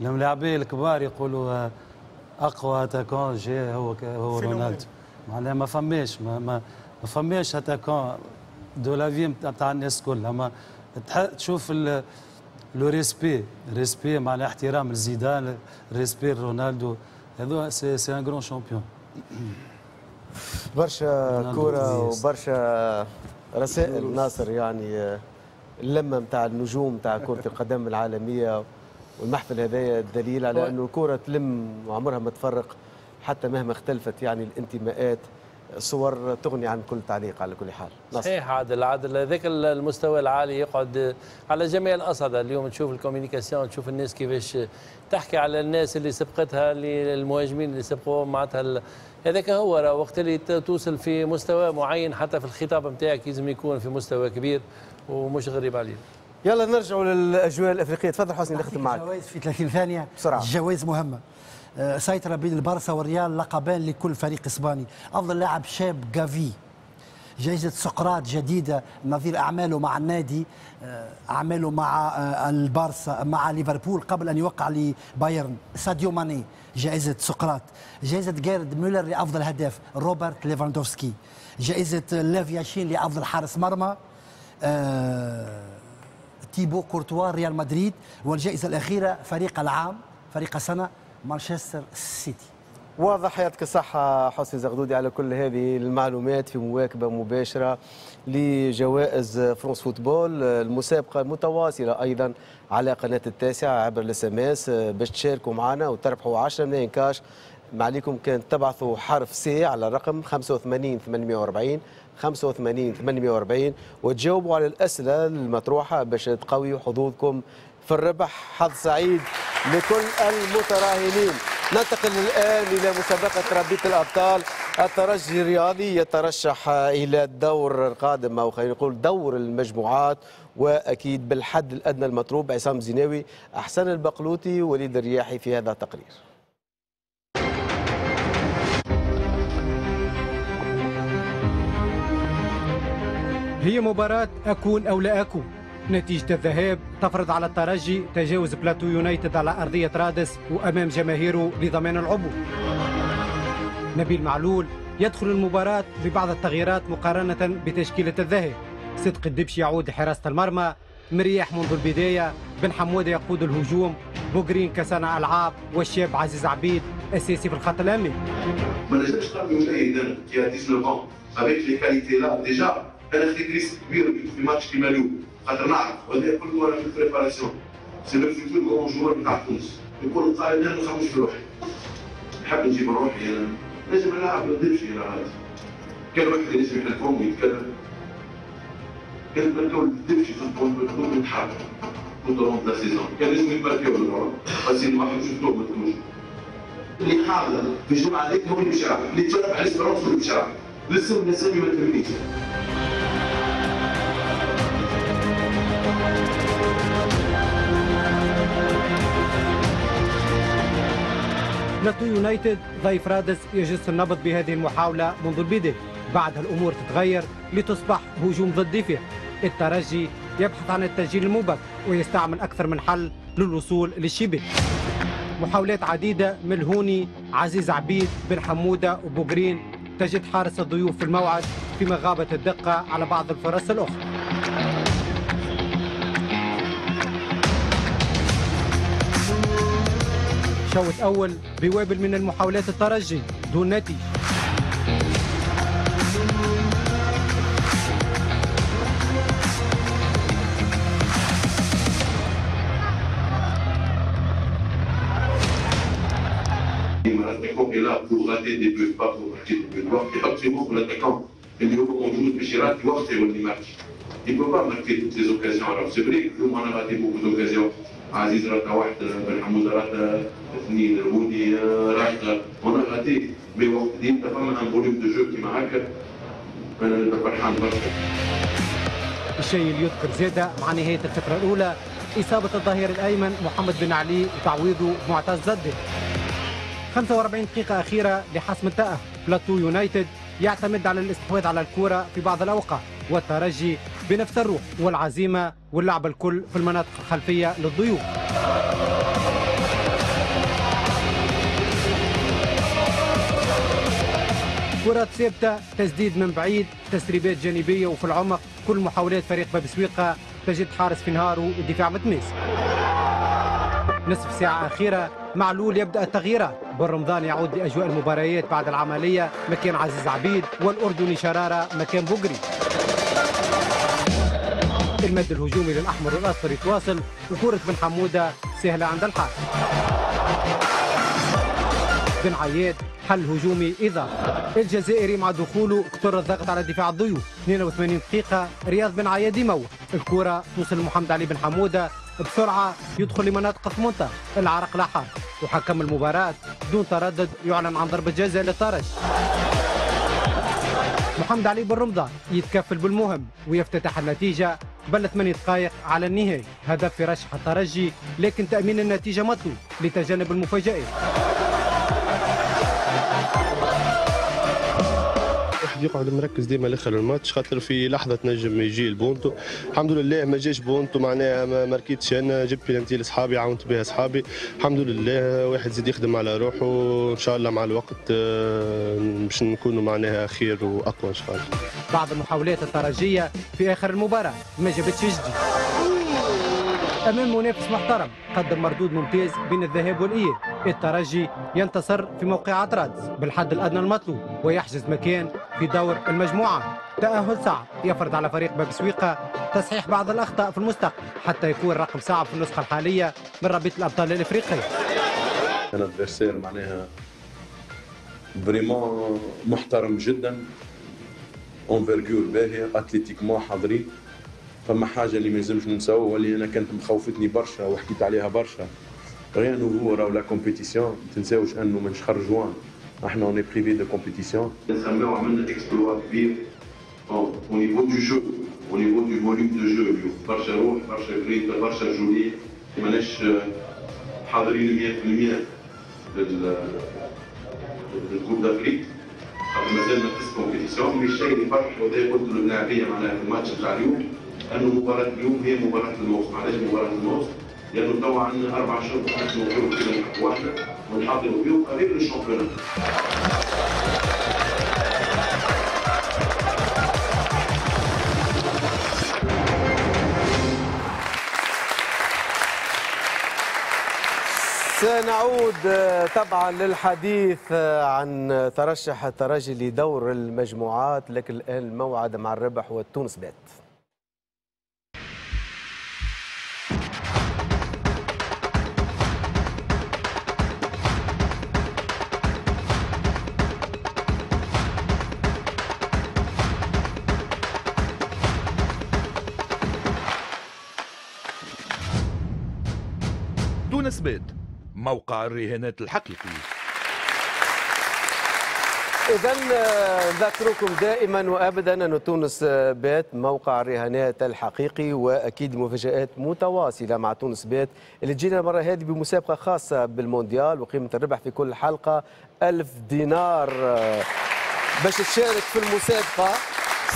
Speaker 2: الملاعبين الكبار يقولوا اقوى attaquant جا هو هو رونالدو، معناها ما فماش ما, ما ما فماش attaquant de la vie نتاع الناس الكل. اما تشوف le respect، respect معناها احترام لزيدان، respect رونالدو، هذو c'est c'est un grand champion.
Speaker 1: برشا كورة وبرشا رسائل ناصر، يعني اللمة نتاع النجوم نتاع كره القدم العالمية والمحفل هذايا دليل على انه الكره تلم وعمرها ما تفرق حتى مهما اختلفت يعني الانتماءات. صور تغني عن كل تعليق على كل حال.
Speaker 9: صحيح عادل، عادل هذاك المستوى العالي يقعد على جميع الاصعدة. اليوم تشوف ال communication، تشوف الناس كيفاش تحكي على الناس اللي سبقتها، اللي المهاجمين اللي سبقوهم، معناتها هذاك هو. راه وقت اللي توصل في مستوى معين حتى في الخطاب نتاعك لازم يكون في مستوى كبير ومش غريب عليه.
Speaker 1: يلا نرجعوا للاجواء الافريقية. تفضل حسني نختم معك.
Speaker 8: الجوائز في ثلاثين ثانية
Speaker 1: بسرعة.
Speaker 8: الجوائز مهمة. سيطرة بين البارسا والريال، لقبان لكل فريق اسباني. افضل لاعب شاب جافي، جائزة سقراط جديدة نظير اعماله مع النادي، اعماله مع البارسا مع ليفربول قبل ان يوقع لبايرن. ساديو ماني جائزة سقراط. جائزة جيرد مولر لافضل هداف روبرت ليفاندوفسكي. جائزة ليف ياشين لافضل حارس مرمى أه تيبو كورتوا ريال مدريد. والجائزة الأخيرة فريق العام، فريق السنة، مانشستر سيتي.
Speaker 1: واضح، يعطيك الصحة حسني زغدودي على كل هذه المعلومات في مواكبة مباشرة لجوائز فرانس فوتبول، المسابقة المتواصلة أيضا على قناة التاسعة عبر ال SMS باش تشاركوا معنا وتربحوا عشرة ملايين كاش. ما عليكم كان تبعثوا حرف C على الرقم خمسة وثمانين ثمانمئة وأربعين خمسة وثمانين ثمانمئة وأربعين وتجاوبوا على الأسئلة المطروحة باش تقويوا حظوظكم في الربح. حظ سعيد لكل المتراهنين. ننتقل الآن إلى مسابقة رابطة الأبطال. الترجي الرياضي يترشح إلى الدور القادم، أو خلينا نقول دور المجموعات، وأكيد بالحد الأدنى المطلوب. عصام زيناوي، أحسن البقلوطي، وليد الرياحي في هذا التقرير.
Speaker 15: هي مباراة أكون أو لا أكون. نتيجة الذهاب تفرض على الترجي تجاوز بلاتو يونايتد على أرضية رادس وأمام جماهيره لضمان العبور. نبيل معلول يدخل المباراة ببعض التغييرات مقارنة بتشكيلة الذهاب. صدق الدبشي يعود لحراسة المرمى، مرياح منذ البداية، بن حمودة يقود الهجوم، بوغرين كصانع ألعاب، والشاب عزيز عبيد أساسي في الخط الأمامي.
Speaker 17: ما نجمش نقارن يونايتد qui a dix-neuf ans avec les qualités là déjà. انا خديت risque كبير في ماتش كيما اليوم، خاطر نعرف وهذا كله انا في ال préparation. c'est le futur grand joueur نتاع تونس. يقول القائل انا ما نخممش في روحي، نحب نجيب روحي انا، نجم نلعب ما نديرش انا عادي. كان واحد ينجم يحل فمه ويتكلم، كان ماركاو الدبشي في البطولة نتحرك tout au long de la saison، كان لازم يماركاو الكره، خاصين واحد شفتوه ما تكونش. اللي حاضر في الجمعة هذيك هو اللي باش يلعب، اللي تشرف على l'Espérance هو اللي باش يلعب، لسه الاسامي ما تهمنيش.
Speaker 15: بلاتو يونايتد ضيف رادس يجس النبض بهذه المحاولة منذ البداية، بعدها الأمور تتغير لتصبح هجوم ضد دفاع. الترجي يبحث عن التسجيل المبكر ويستعمل أكثر من حل للوصول للشباك. محاولات عديدة من الهوني، عزيز عبيد، بن حمودة وبوغرين تجد حارس الضيوف في الموعد فيما غابت الدقة على بعض الفرص الأخرى. شوط أول بوابل من المحاولات الترجي دون نتيجة.
Speaker 17: L'attaquant est là pour rater des buts, pas pour marquer des buts. يحط في مخه l'attaquant اللي هو موجود باش يراتي وقت يولي ماركي. Il ne peut pas marquer toutes les occasions. Alors c'est vrai que nous on a raté beaucoup d'occasions. عزيز راتا واحدة، بن حمودة راتا اثنين، الهوني راتا، on a raté. mais وقت اللي انت فما un volume de jeu كيما هكا انا نبقى فرحان برشا.
Speaker 15: الشيء اللي يذكر زاده مع نهاية الفترة الأولى إصابة الظهير الأيمن محمد بن علي وتعويضه معتز زدي. خمسة وأربعين دقيقة أخيرة لحسم التأهل. بلاتو يونايتد يعتمد على الاستحواذ على الكرة في بعض الأوقات، والترجي بنفس الروح والعزيمة واللعب الكل في المناطق الخلفية للضيوف. كرات ثابتة، تسديد من بعيد، تسريبات جانبية وفي العمق، كل محاولات فريق باب سويقة تجد حارس في نهاره والدفاع متماسك. نصف ساعة أخيرة معلول يبدأ التغييرات، بن رمضان يعود لأجواء المباريات بعد العملية مكان عزيز عبيد، والأردني شرارة مكان بوغري. المد الهجومي للأحمر والأصفر يتواصل، وكرة بن حمودة سهلة عند الحارس. بن عياد حل هجومي إضافي. الجزائري مع دخوله كثر الضغط على دفاع الضيوف. اثنين وثمانين دقيقة رياض بن عياد يموه، الكرة توصل لمحمد علي بن حمودة بسرعة يدخل لمناطق ثمانية عشر، العرق لحار، وحكم المباراة دون تردد يعلن عن ضربة جزاء للترجي. محمد علي بن رمضان يتكفل بالمهم ويفتتح النتيجة قبل ثمانية دقائق على النهاية، هدف يرشح الترجي لكن تأمين النتيجة مطلوب لتجنب المفاجآت.
Speaker 18: الواحد يقعد مركز ديما لاخر الماتش خاطر في لحظة تنجم يجي البونتو، الحمد لله ما جاش بونتو معناها ما ماركيتش، انا جبت بلانتي لاصحابي عاونت بها اصحابي، الحمد لله واحد زيد يخدم على روحه ان شاء الله مع الوقت باش نكونوا معناها خير واقوى ان شاء الله.
Speaker 15: بعض المحاولات الترجيه في اخر المباراة ما جابتش جديد. امام منافس محترم قدم مردود ممتاز بين الذهاب والاياب، الترجي ينتصر في موقعة رادس بالحد الادنى المطلوب ويحجز مكان في دور المجموعات. تأهل صعب يفرض على فريق باب سويقة تصحيح بعض الاخطاء في المستقبل حتى يكون رقم صعب في النسخة الحالية من رابطه الابطال الافريقية.
Speaker 17: un adversaire معناها vraiment محترم جدا، envergure باهيه، athlétiquement حاضرين. فما حاجة اللي ما يلزمش ننساوها واللي انا كانت مخوفتني برشا وحكيت عليها برشا، rien nouveau راهو la compétition، ما تنساوش انه من شهر جوان احنا on est privé de compétition. نسميو عملنا exploit كبير au niveau du jeu، au niveau du volume de jeu اليوم، برشا روح، برشا جريطه، برشا رجوليه، ماناش حاضرين مية بالمية لل Coupe d'Afrique خاطر مازالنا في compétition. mais الشيء اللي فرح وهذا قلت للملاعبيه معناها في الماتش نتاع اليوم انه مباراة اليوم هي مباراة الموسم. علاش مباراة الموسم؟ لانه توا عندنا اربع شهور نخدموا فيهم كيما نحبوا احنا ونحضروا فيهم قريب لل championnat.
Speaker 1: سنعود طبعا للحديث عن ترشح الترجي لدور المجموعات، لكن الآن الموعد مع الربح والتونس بات.
Speaker 19: تونس بات، موقع الرهانات الحقيقي.
Speaker 1: إذا نذكركم دائما وأبدا أن تونس بات موقع الرهانات الحقيقي، وأكيد مفاجآت متواصلة مع تونس بات اللي تجينا المرة هذه بمسابقة خاصة بالمونديال، وقيمة الربح في كل حلقة ألف دينار. باش تشارك في المسابقة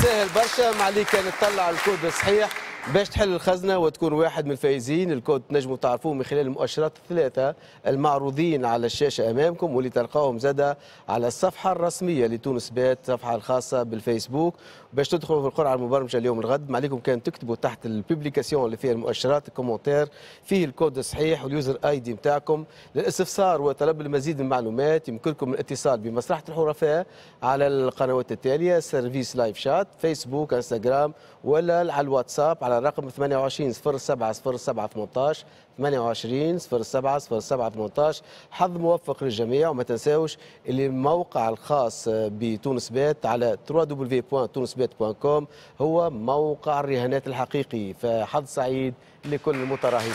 Speaker 1: سهل برشا، ما عليك كان تطلع الكود الصحيح باش تحل الخزنة وتكون واحد من الفائزين. الكود تنجموا تعرفوه من خلال المؤشرات الثلاثة المعروضين على الشاشة أمامكم، واللي تلقاهم زادة على الصفحة الرسمية لتونس بات، الصفحة الخاصة بالفيسبوك. باش تدخلوا في القرعة المبرمجة اليوم الغد، ما عليكم كان تكتبوا تحت ال publication اللي فيها المؤشرات ال commentaire فيه الكود الصحيح وال user ID نتاعكم. للاستفسار وطلب المزيد من المعلومات يمكنكم الاتصال بمصلحة الحرفاء على القنوات التالية: service live chat، فيسبوك، انستغرام، ولا على الواتساب على الرقم ثمانية وعشرين صفر سبعة صفر سبعة ثمانية عشر، ثمانية وعشرين صفر سبعة صفر سبعة ثمانية عشر. حظ موفق للجميع، وما تنساوش اللي الموقع الخاص بتونس بات على دبليو دبليو دبليو دوت تونس بات دوت كوم هو موقع الرهانات الحقيقي. فحظ سعيد لكل المتراهنين.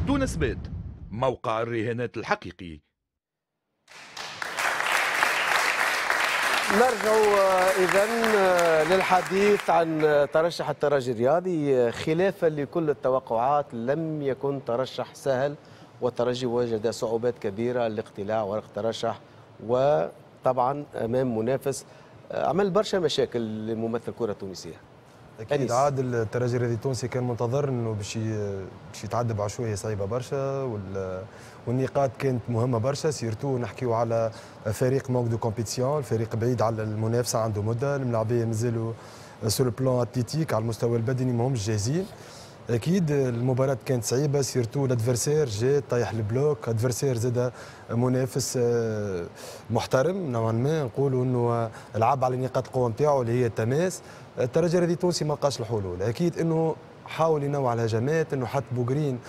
Speaker 19: تونس بات، موقع الرهانات الحقيقي.
Speaker 1: نرجع إذن للحديث عن ترشح الترجي الرياضي. خلافا لكل التوقعات لم يكن ترشح سهل، والترجي وجد صعوبات كبيرة لاقتلاع ورق ترشح، وطبعا أمام منافس عمل برشا مشاكل لممثل الكرة التونسية.
Speaker 3: اكيد عادل، الترجي الرياضي التونسي كان منتظر انه باش باش يتعدى بعشوائيه صعيبة برشا، والنقاط كانت مهمة برشا، surtout نحكيو على فريق manque de compétition، الفريق بعيد على المنافسة عنده مده، الملاعبيه مازالوا sur le plan athlétique، على المستوى البدني ما همش جاهزين. اكيد المباراة كانت صعيبة، surtout l'adversaire جا طيح ال bloc، adversaire زاد منافس محترم نوعا ما، نقولوا انه لعب على نقاط القوة نتاعو اللي هي التماس. الترجي الرياضي التونسي ما لقاش الحلول، اكيد انه حاول ينوع الهجمات، انه حط بوغرين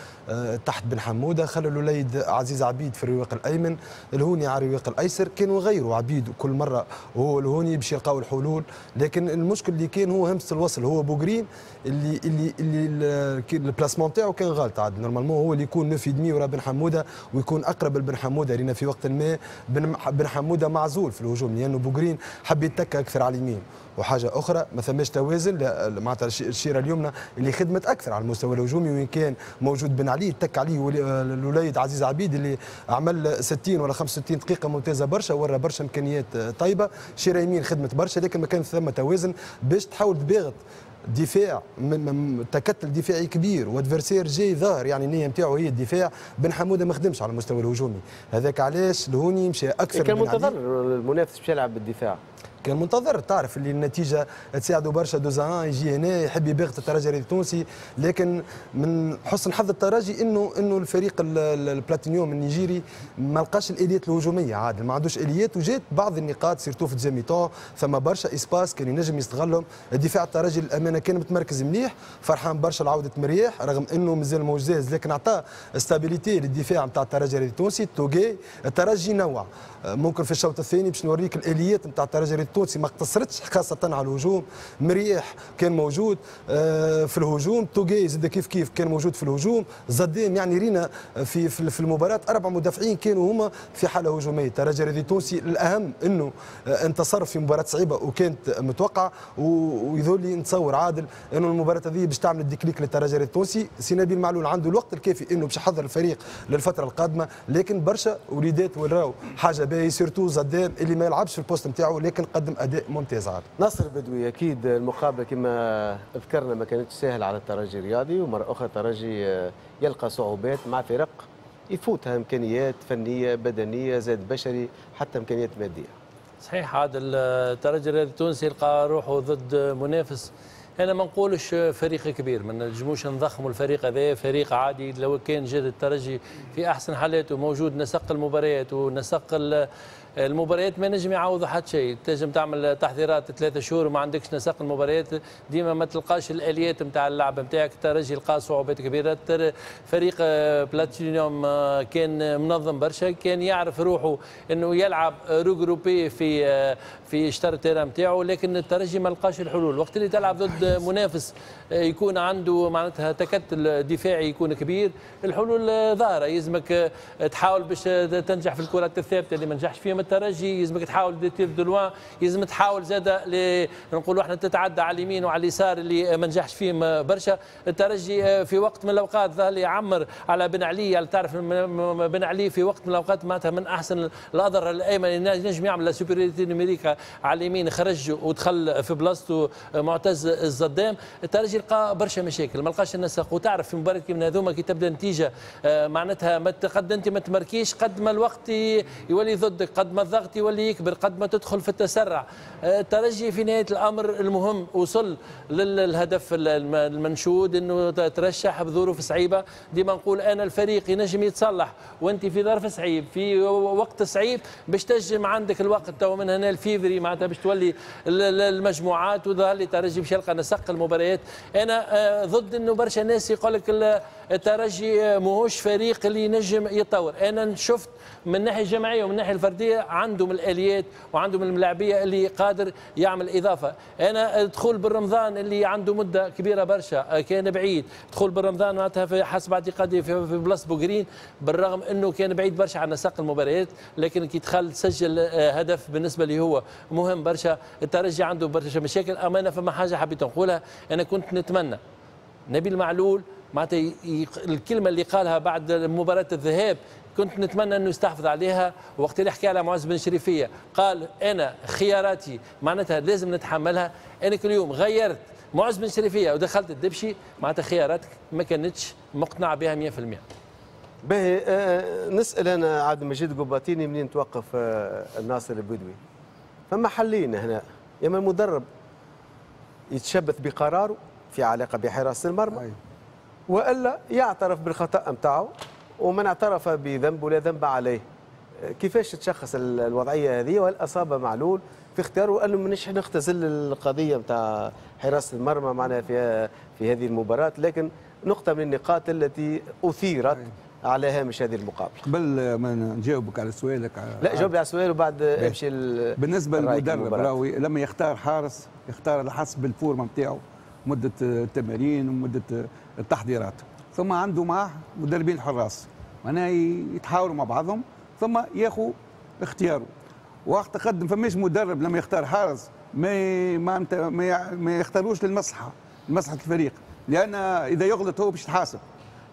Speaker 3: تحت بن حموده، خلى الوليد عزيز عبيد في الرواق الايمن، الهوني على الرواق الايسر، كانوا غيروا عبيد كل مرة وهو الهوني باش يلقاو الحلول، لكن المشكل اللي كان هو همسة الوصل، هو بوغرين اللي اللي اللي ال placement تاعو كان غلط عاد، normalement هو اللي يكون neuf et demi ورا بن حموده ويكون اقرب لبن حموده، لان في وقت ما بن حموده معزول في الهجوم لانه بوغرين حب يتكى اكثر على اليمين. وحاجه اخرى ما ثماش توازن معناتها الشيره اليمنى اللي خدمت اكثر على المستوى الهجومي، وين كان موجود بن علي تك عليه الوليد عزيز عبيد اللي عمل ستين ولا خمسة وستين دقيقة ممتازة برشا، ورا برشا امكانيات طيبة. شيره يمين خدمت برشا، لكن ما كان ثم توازن باش تحاول تباغت دفاع من تكتل دفاعي كبير و adversaire جاي ظاهر يعني النية نتاعو هي الدفاع. بن حموده ما خدمش على المستوى الهجومي، هذاك علاش الهوني مشى اكثر.
Speaker 1: كان منتظر المنافس باش يلعب بالدفاع،
Speaker 3: كان منتظر، تعرف اللي النتيجة تساعده برشا deux un، يجي هنا يحب يباغت الترجي التونسي، لكن من حسن حظ الترجي انه انه الفريق البلاتينيوم النيجيري ما لقاش الاليات الهجومية عادل، ما عندوش اليات، وجات بعض النقاط surtout في deuxième mi-temps ثم برشا espaces كان ينجم يستغلهم. الدفاع الترجي للامانة كان متمركز مليح، فرحان برشا لعودة مرياح رغم انه مازال موش جاهز، لكن اعطاه stabilité للدفاع نتاع الترجي التونسي. توجي الترجي نوع ممكن في الشوط الثاني باش نوريك الاليات نتاع الترجي التونسي ما اقتصرتش خاصة على الهجوم، مريح كان موجود في الهجوم، توجي زاد كيف كيف كان موجود في الهجوم، زدام يعني رينا في في المباراة أربع مدافعين كانوا هما في حالة هجومية. الترجي الرياضي التونسي الأهم أنه انتصر في مباراة صعيبة وكانت متوقعة، ويظهر لي نتصور عادل أنه المباراة هذه باش تعمل ال déclic للترجي الرياضي التونسي. سي نبيل معلول عنده الوقت الكافي أنه باش يحضر الفريق للفترة القادمة، لكن برشا وليدات وراو حاجة باهية، surtout زدام اللي ما يلعبش في ال poste نتاعو لكن قدم اداء ممتاز. عاد
Speaker 1: نصر بدوي، اكيد المقابلة كما ذكرنا ما كانتش سهلة على الترجي الرياضي، ومرة اخرى الترجي يلقى صعوبات مع فرق يفوتها امكانيات فنية بدنية زاد بشري حتى امكانيات مادية.
Speaker 9: صحيح عاد الترجي الرياضي التونسي يلقى روحه ضد منافس، انا ما نقولش فريق كبير، ما نجموش نضخموا الفريق هذا، فريق عادي. لو كان جاد الترجي في احسن حالاته موجود نسق المباريات ونسق المباريات ما نجم يعوض حتى شيء، تنجم تعمل تحضيرات ثلاثة شهور وما عندكش نسق المباريات، ديما ما تلقاش الاليات نتاع اللعب نتاعك. الترجي لقى صعوبات كبيرة، فريق بلاتينيوم كان منظم برشا، كان يعرف روحه انه يلعب regroupé في في شطر ال terrain نتاعو، لكن الترجي ما لقاش الحلول. وقت اللي تلعب ضد منافس يكون عنده معناتها تكتل دفاعي يكون كبير، الحلول ظاهره، يلزمك تحاول باش تنجح في الكرات الثابتة اللي ما نجحش فيهم الترجي، يلزمك تحاول des tirs de loin، يلزم تحاول زاده نقولوا احنا تتعدى على اليمين وعلى اليسار اللي ما نجحش فيهم برشا. الترجي في وقت من الاوقات ظهر لي يعمر على بن علي، يعني تعرف بن علي في وقت من الاوقات معناتها من احسن الاظهرة الايمن ينجم يعمل la supériorité numérique على اليمين، خرج ودخل في بلاصته معتز الزدام. الترجي لقى برشا مشاكل، ما لقاش النسق، وتعرف في مباراة كيما هذوما كي تبدا نتيجة معناتها ما قد انت ما تمركيش، قد ما الوقت يولي ضدك، قد ما الضغط يولي يكبر، قد ما تدخل في التسرع. الترجي في نهاية الامر المهم وصل للهدف المنشود، انه ترشح بظروف صعيبة. ديما نقول انا الفريق ينجم يتصلح وانت في ظرف صعيب في وقت صعيب باش تنجم عندك الوقت تو من هنا الفيفري معناتها باش تولي المجموعات، وظهر لي الترجي باش يلقى نسق المباريات. انا ضد انه برشا ناس يقول لك الترجي ماهوش فريق اللي ينجم يتطور. انا شفت من الناحية الجماعية ومن الناحية الفردية عندهم الاليات وعندهم الملاعبيه اللي قادر يعمل اضافه. انا دخول بالرمضان اللي عنده مده كبيرة برشا كان بعيد، دخول بالرمضان معناتها في حسب اعتقادي في بلاصة بوغرين، بالرغم انه كان بعيد برشا عن نسق المباريات، لكن كي دخل سجل هدف بالنسبة لي هو مهم برشا. الترجي عنده برشا مشاكل. اما انا فما حاجة حبيت نقولها، انا كنت نتمنى نبيل معلول معناتها الكلمة اللي قالها بعد مباراة الذهاب كنت نتمنى انه يستحفظ عليها. وقت اللي حكى على معز بن شريفيه قال انا خياراتي معناتها لازم نتحملها. انا كل يوم غيرت معز بن شريفيه ودخلت الدبشي، معناتها خياراتك ما كانتش مقتنع بها مئة في المئة.
Speaker 1: باهي، آه نسال انا عبد المجيد قباطيني منين توقف آه الناصر البدوي؟ فما حلين هنا، يا اما المدرب يتشبث بقراره في علاقة بحراسه المرمى، والا يعترف بالخطا نتاعو، ومن اعترف بذنبه لا ذنب عليه. كيفاش تشخص الوضعية هذه؟ وهل اصاب معلول في اختياره انه مانيش نختزل القضية نتاع حراسة المرمى معنا في في هذه المباراة، لكن نقطة من النقاط التي اثيرت على هامش هذه المقابلة.
Speaker 5: قبل ما نجاوبك على سؤالك،
Speaker 1: لا جاوب على السؤال وبعد امشي.
Speaker 5: بالنسبة للمدرب راهو لما يختار حارس يختار على حسب ال forme نتاعو، مده التمارين ومده التحضيرات، ثم عنده معه مدربين حراس معناها يتحاوروا مع بعضهم ثم ياخذ اختياره. واعتقد ما فماش مدرب لما يختار حارس ما ما ما يختاروش للمصلحة، لمصلحة الفريق، لان اذا يغلط هو باش يتحاسب.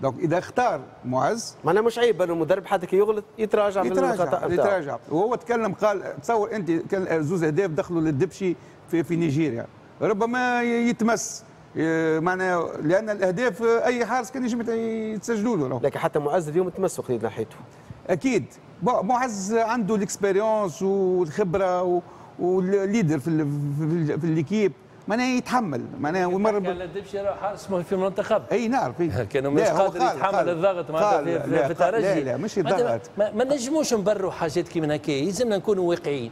Speaker 5: donc اذا اختار معز
Speaker 1: معناها مش عيب انه المدرب حتى كي يغلط يتراجع من الخطا نتاعو،
Speaker 5: يتراجع. وهو تكلم قال تصور انت كان زوز اهداف دخلوا للدبشي في في نيجيريا، ربما يتمس معناها لان الاهداف اي حارس كان يجم يتسجلوا له.
Speaker 1: لكن حتى معز اليوم تمس وقت ناحيته.
Speaker 5: اكيد معز عنده ال expérience والخبرة وال leader في في l'équipe، معناها يتحمل معناها.
Speaker 9: ومرة على الدبشي راه حارس في المنتخب.
Speaker 5: اي نعرف
Speaker 9: كانوا مش قادر يتحمل الضغط معناتها في, في الترجي.
Speaker 5: لا لا مش الضغط،
Speaker 9: ما, ما نجموش نبروا حاجات كيما هكا، يلزمنا نكونوا واقعيين.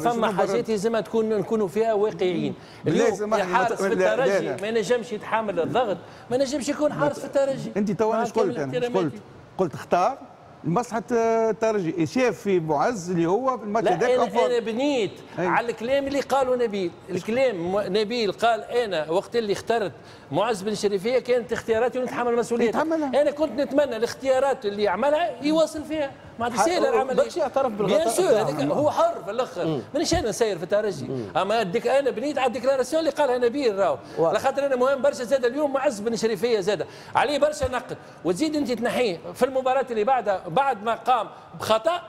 Speaker 9: فما حاجات يلزمها تكون نكونوا فيها واقعيين. اليوم حارس في الترجي ما ينجمش يتحمل الضغط، ما ينجمش يكون حارس في الترجي.
Speaker 5: انت تو انا قلت انا قلت قلت اختار لمصلحة الترجي، شاف في معز اللي هو في الماتش هذاك.
Speaker 9: انا انا بنيت أي. على الكلام اللي قاله نبيل، الكلام نبيل قال انا وقت اللي اخترت معز بن شريفيه كانت اختياراتي ونتحمل مسؤوليتها. انا كنت نتمنى الاختيارات اللي يعملها يواصل فيها، معناتها سهلة العملية.
Speaker 1: باش يعترف بالخطا
Speaker 9: bien sûr، هذاك هو حر في الاخر، مانيش انا نسير في الترجي، اما ديك انا بنيت على ال déclaration اللي قالها نبيل راهو، على خاطر انا مهم برشا زاد اليوم معز بن شريفيه زاد عليه برشا نقد، وتزيد انت تنحيه في المباراة اللي بعدها بعد ما قام بخطا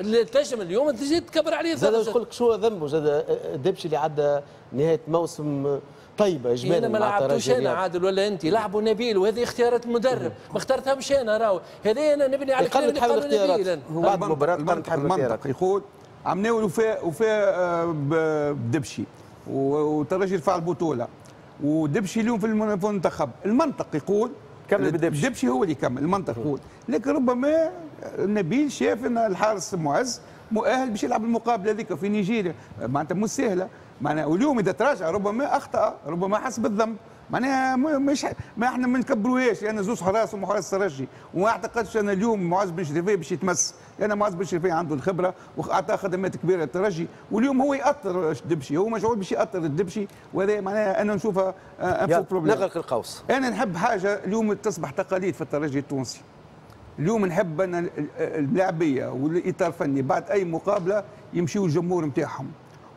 Speaker 9: اللي تنجم اليوم تزيد تكبر عليه.
Speaker 1: زاد نقول لك شو ذنبه زاد الدبشي اللي عدى نهاية موسم طيبة اجمالا.
Speaker 9: انا ما لعبتوش انا عادل ولا انت، لعبوا نبيل وهذه اختيارات المدرب، ما اخترتهمش انا راهو، هذه انا نبني على الكلام اللي قاله نبيل.
Speaker 1: بعد مباراة
Speaker 5: المنطق, المنطق يقول عمناول وفاء وفاء بدبشي وترجي رفع البطولة ودبشي اليوم في المنتخب، المنطق يقول
Speaker 1: كمل بدبشي،
Speaker 5: دبشي هو اللي يكمل، المنطق يقول. لكن ربما نبيل شاف ان الحارس معز مؤهل باش يلعب المقابلة هذيك في نيجيريا، معناتها مش سهلة معناها. واليوم اذا تراجع ربما اخطا، ربما حس بالذنب، معناها مش ما احنا ما نكبروهاش لان زوز حراس ومحراس الترجي، وما اعتقدش ان اليوم معز بن شريفيه باش يتمس، لان معز بن شريفيه عنده الخبرة واعطى خدمات كبيرة للترجي، واليوم هو يأطر الدبشي، هو مشغول باش يأطر الدبشي، وهذا معناها انا نشوفها un faux problème.
Speaker 1: نغلق القوس.
Speaker 5: انا نحب حاجة اليوم تصبح تقاليد في الترجي التونسي. اليوم نحب ان اللاعبيه والاطار الفني بعد اي مقابله يمشيوا الجمهور نتاعهم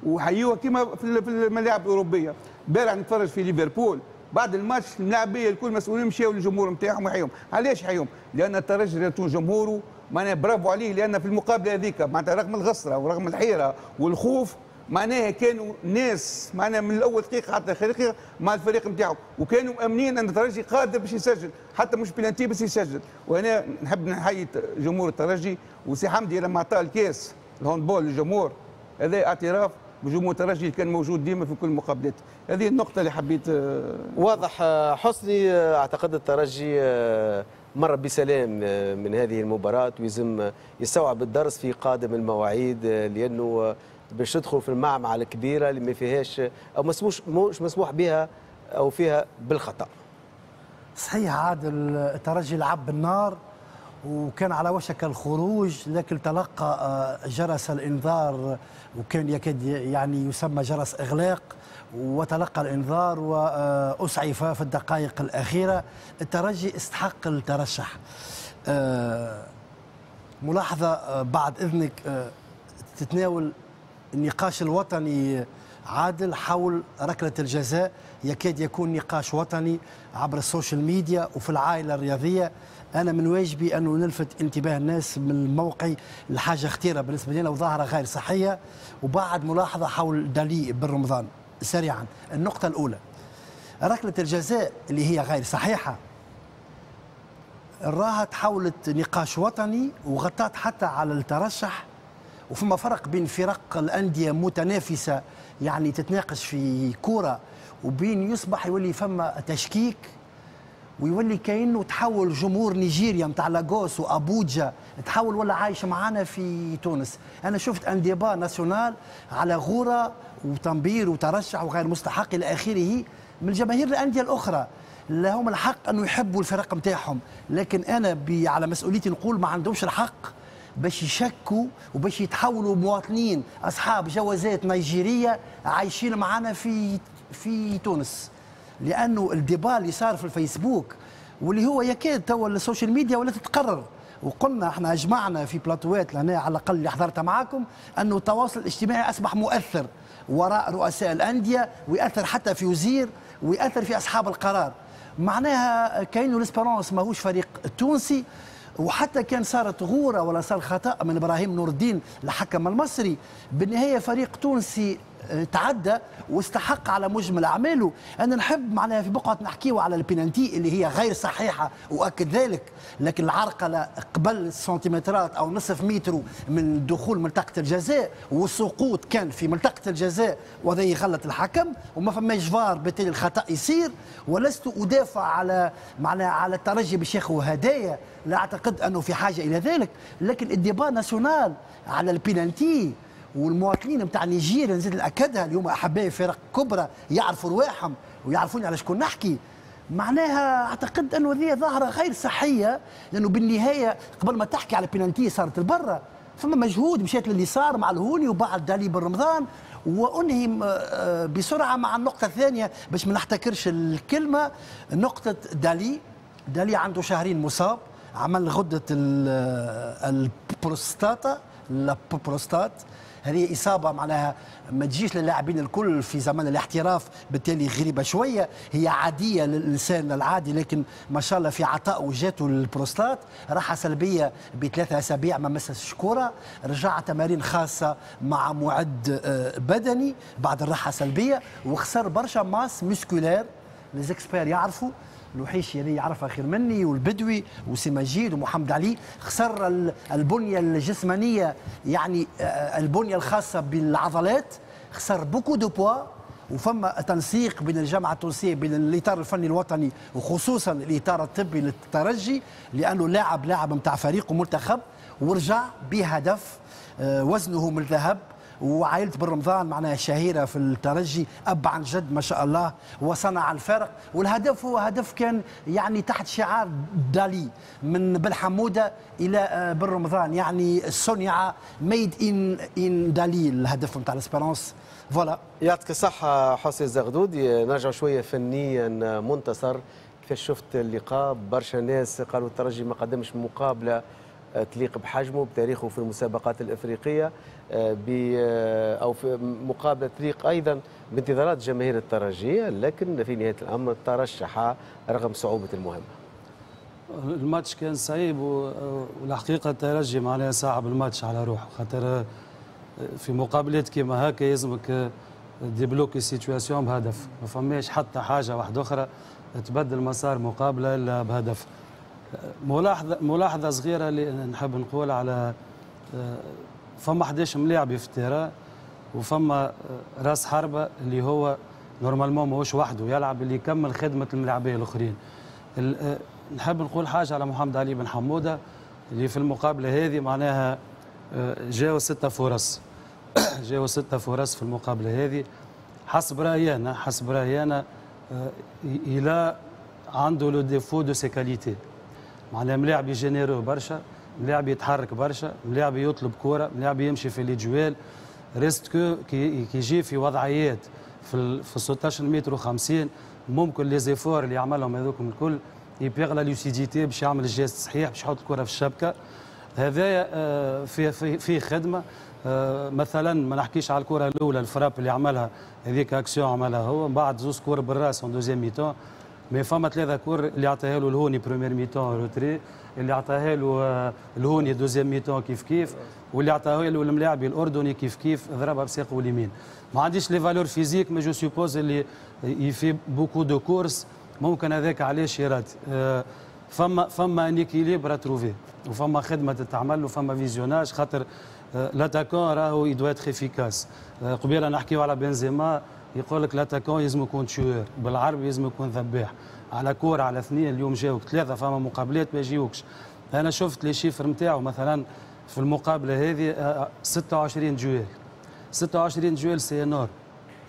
Speaker 5: وحيوها كما في الملاعب الاوروبية. البارح نتفرج في ليفربول بعد الماتش اللاعبيه الكل مسؤولين مشاو للجمهور نتاعهم وحيهم. علاش حيهم؟ لان الترجي التونسي جمهوره معناها برافو عليه، لان في المقابلة هذيك معناتها رغم الغسره ورغم الحيرة والخوف معناها كانوا ناس معناها من الاول دقيقة حتى اخر دقيقة مع الفريق نتاعو، وكانوا مامنين ان الترجي قادر باش يسجل، حتى مش بلانتي بس يسجل. وهنا نحب نحيي جمهور الترجي وسي حمدي لما عطاه الكاس ال handball للجمهور، هذا اعتراف بجمهور الترجي اللي كان موجود ديما في كل المقابلات. هذه النقطة اللي حبيت.
Speaker 1: واضح حسني، اعتقد الترجي مر بسلام من هذه المباراة ويزم يستوعب الدرس في قادم المواعيد، لأنه باش تدخل في المعمعة الكبيرة اللي ما فيهاش أو مسموش مش مسموح بها أو فيها بالخطأ.
Speaker 8: صحيح عادل، الترجي لعب بالنار وكان على وشك الخروج، لكن تلقى جرس الإنذار وكان يكاد يعني يسمى جرس إغلاق، وتلقى الإنذار وأسعف في الدقائق الأخيرة. الترجي استحق الترشح. ملاحظة بعد إذنك تتناول النقاش الوطني عادل حول ركلة الجزاء، يكاد يكون نقاش وطني عبر السوشيال ميديا وفي العائلة الرياضية. أنا من واجبي أنه نلفت انتباه الناس من موقعي لحاجة خطيرة بالنسبة لنا وظاهرة غير صحية. وبعد ملاحظة حول دالي بن رمضان سريعا. النقطة الأولى، ركلة الجزاء اللي هي غير صحيحة راها تحولت نقاش وطني وغطت حتى على الترشح، وفما فرق بين فرق الاندية متنافسه يعني تتناقش في كورة، وبين يصبح يولي فما تشكيك، ويولي كأنه تحول جمهور نيجيريا نتاع لاغوس وابوجا تحول ولا عايش معانا في تونس. انا شفت un débat national على غوره وتنبير وترشح وغير مستحق الى اخره من جماهير الاندية الاخرى. لهم الحق انه يحبوا الفرق نتاعهم، لكن انا على مسؤوليتي نقول ما عندهمش الحق باش يشكوا وباش يتحولوا مواطنين اصحاب جوازات نيجيريه عايشين معانا في في تونس. لانه ال débat اللي صار في الفيسبوك واللي هو يكاد توا ال social media ولا تتقرر، وقلنا احنا اجمعنا في بلاتوات لهنا على الاقل اللي حضرتها معاكم انه التواصل الاجتماعي اصبح مؤثر وراء رؤساء الاندية، ويأثر حتى في وزير، ويأثر في اصحاب القرار. معناها كاينو l'Espérance ماهوش فريق تونسي، وحتى كان صارت غوره ولا صار خطا من ابراهيم نور الدين الحكم المصري، بالنهاية فريق تونسي تعدى واستحق على مجمل اعماله. انا نحب معناها في بقعة نحكيو على البينالتي اللي هي غير صحيحه واكد ذلك، لكن العرقله قبل سنتيمترات او نصف متر من دخول منطقة الجزاء والسقوط كان في منطقة الجزاء، وهذا يغلط الحكم وما فماش فار، بالتالي الخطا يصير. ولست ادافع على معناها على الترجي باش ياخذ هدايا، لا اعتقد انه في حاجة الى ذلك، لكن ال débat national على البينالتي والمواطنين نتاع نيجيريا نزيد ناكدها اليوم احبائي فرق كبرى يعرفوا رواحهم ويعرفوني على شكون نحكي. معناها اعتقد انه هذه ظاهره غير صحية، لانه بالنهاية قبل ما تحكي على بينالتي صارت البرة، فما مجهود مشات لليسار مع الهوني وبعد دالي بن رمضان، وانهي بسرعة مع النقطة الثانية باش ما نحتكرش الكلمة. نقطة دالي، دالي عنده شهرين مصاب، عمل غده البروستاتا la prostate، هذه إصابة معناها ما تجيش للاعبين الكل في زمن الاحتراف، بالتالي غريبة شوية، هي عادية للإنسان العادي، لكن ما شاء الله في عطاء وجاته البروستات. راحة سلبية بثلاثة أسابيع ما مسش كرة، رجع تمارين خاصة مع معد بدني بعد الراحة السلبية، وخسر برشا masse musculaire. les experts يعرفوا، الوحيشي اللي يعرفها خير مني، والبدوي وسي مجيد ومحمد علي، خسر البنية الجسمانية يعني البنية الخاصة بالعضلات، خسر beaucoup de poids. وفما تنسيق بين الجامعة التونسية بين الاطار الفني الوطني وخصوصا الاطار الطبي للترجي، لانه لاعب لاعب نتاع فريق ومنتخب، ورجع بهدف وزنه من الذهب. وعائلة بن رمضان معناها شهيرة في الترجي، أب عن جد ما شاء الله، وصنع الفرق. والهدف هو هدف كان يعني تحت شعار دالي من بن حمودة إلى بن رمضان، يعني صنع made in in دالي الهدف نتاع l'Espérance. voilà،
Speaker 1: يعطيك الصحة حسين الزغدودي. نرجع شوية فنيا، منتصر كيفاش شفت اللقاء؟ برشا ناس قالوا الترجي ما قدمش مقابلة تليق بحجمه بتاريخه في المسابقات الافريقية، او في مقابله تليق ايضا بانتظارات جماهير الترجيه، لكن في نهاية الامر ترشح رغم صعوبة المهمة.
Speaker 2: الماتش كان صعيب، والحقيقة الترجي معناها صعب الماتش على روحه، خاطر في مقابلات كيما هكا يلزمك débloquer situation بهدف، ما فماش حتى حاجة واحدة اخرى تبدل مسار مقابله الا بهدف. ملاحظة ملاحظة صغيرة اللي نحب نقول على فما احداش ملاعب في ال terrain، وفما راس حربه اللي هو normalement ماهوش وحده يلعب، اللي يكمل خدمة الملاعبيه الاخرين. نحب نقول حاجة على محمد علي بن حموده اللي في المقابلة هذه معناها جاوا ستة فرص جاوا ستة فرص في المقابلة هذه. حسب رايي انا حسب رايي انا الى عنده le défaut de ses qualités، معناها ملاعب généreux برشا، ملاعب يتحرك برشا، ملاعب يطلب كورة، ملاعب يمشي في les duels. reste que كي يجي في وضعيات في في ستة عشر متر وخمسين ممكن les efforts اللي يعملهم هذوكم الكل il perd la lucidité باش يعمل ال geste الصحيح باش يحط الكره في الشبكة. هذايا في في في خدمة. مثلا ما نحكيش على الكره الاولى ال frappe اللي عملها هذيك اكسيون عملها هو، من بعد زوز كور بالراس en deuxième mi-temps، mais فما ثلاثة كور اللي عطاها له الهوني première mi-temps retrait، اللي عطاها له الهوني deuxième mi-temps كيف كيف، واللي عطاها له الملاعبي الاردني كيف كيف ضربها بساقه اليمين. ما عنديش les valeurs physiques mais je suppose اللي il fait beaucoup de courses، ممكن هذاك علاش يرات. فما فما un équilibre à trouver، وفما خدمة تتعمل، وفما visionnage، خاطر l'attaquant راهو il doit être efficace. قبيلة نحكيو على بنزيما، يقول لك l'attaquant لازم يكون tueur، بالعربي لازم يكون ذباح، على كورة على اثنين، اليوم جاوك ثلاثه، فما مقابلات ما يجيوكش. انا شفت les chiffres نتاعو مثلا في المقابلة هذه ستة وعشرين duels، ستة وعشرين duels c'est énorme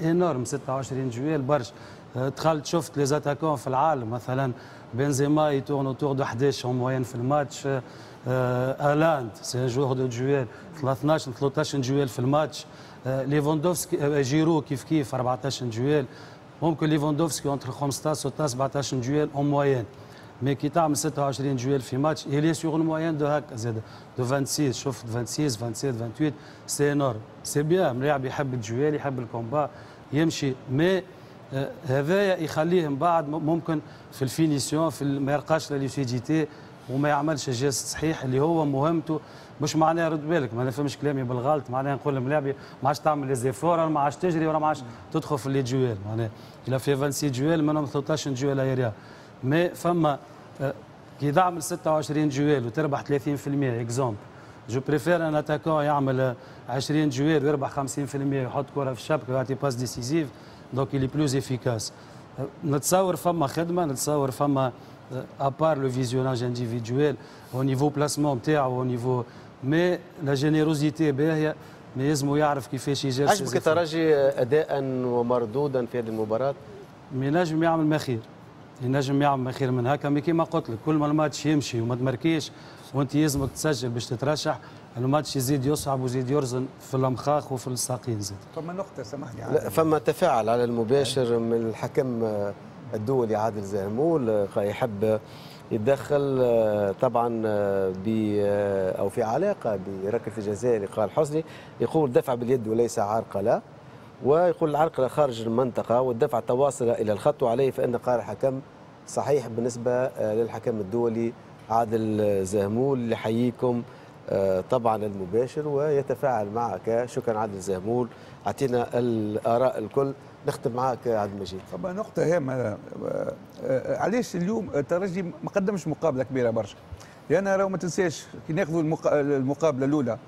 Speaker 2: énorme، ستة وعشرين duels برشا. دخلت شفت les attaquants في العالم، مثلا بنزيما il tourne autour de حداش en moyenne في الماتش، هالاند c'est un joueur de duels اثناش ثلاثطاش duels في الماتش، ليفاندوفسكي جيرو كيف كيف أربعطاش duels، ممكن ليفاندوفسكي entre خمسطاش ستاش سبعطاش duels en moyenne. mais كي تعمل ستة وعشرين duels في ماتش، il est sur une moyenne de هكا زاد de vingt-six، شفت ستة وعشرين سبعة وعشرين ثمانية وعشرين، c'est énorme، c'est bien. ملاعب يحب ال duel، يحب ال combat، يمشي، mais هذايا يخليه من بعد ممكن في ال finition في ما يلقاش la lucidité وما يعملش geste صحيح اللي هو مهمته. مش معناها، رد بالك ما نفهمش كلامي بالغلط، معناها نقول للملاعبي ما عادش تعمل les efforts، ما عادش تجري ولا ما عادش تدخل في les duels. معناها il a fait vingt-six duels، منهم ثلاثطاش duels aériens، mais فما آه، كي تعمل ستة وعشرين duels وتربح ثلاثين في المية exemple، je préfère un attaquant يعمل عشرين duels ويربح خمسين في المية، يحط كره في الشبكة ويعطي passe décisive، donc il est plus efficace. نتصور فما خدمه، نتصور فما à part le visionnage individuel au niveau placement نتاعو au niveau، mais la générosité باهيه، mais لازم يعرف كيفاش يجير.
Speaker 1: عجبك الترجي اداء ومردودا في هذه المباراة؟
Speaker 2: ينجم يعمل ما خير، ينجم يعمل ما خير من هكا، mais كيما قلت لك كل ما الماتش يمشي وما تمركيش وانت يلزمك تسجل باش تترشح، الماتش يزيد يصعب ويزيد يرزن في الامخاخ وفي الساقين زاد.
Speaker 5: فما نقطة سامحني.
Speaker 1: لا، فما تفاعل على المباشر من الحكم الدولي عادل زهمول، يحب يتدخل طبعا ب او في علاقة بركله الجزاء اللي قال حسني، يقول دفع باليد وليس عرقله، ويقول العرقله خارج المنطقة والدفع تواصل الى الخط، وعليه فان قرار الحكم صحيح. بالنسبة للحكم الدولي عادل زهمول اللي يحييكم طبعا المباشر ويتفاعل معك. شكرا عادل زهمول، اعطينا الاراء الكل. نختم معك عبد المجيد.
Speaker 5: طبعا نقطة هامة، علاش اليوم الترجي ما قدمش مقابلة كبيرة برشا؟ لأن راهو ما تنساش كي ناخذوا المقابلة الأولى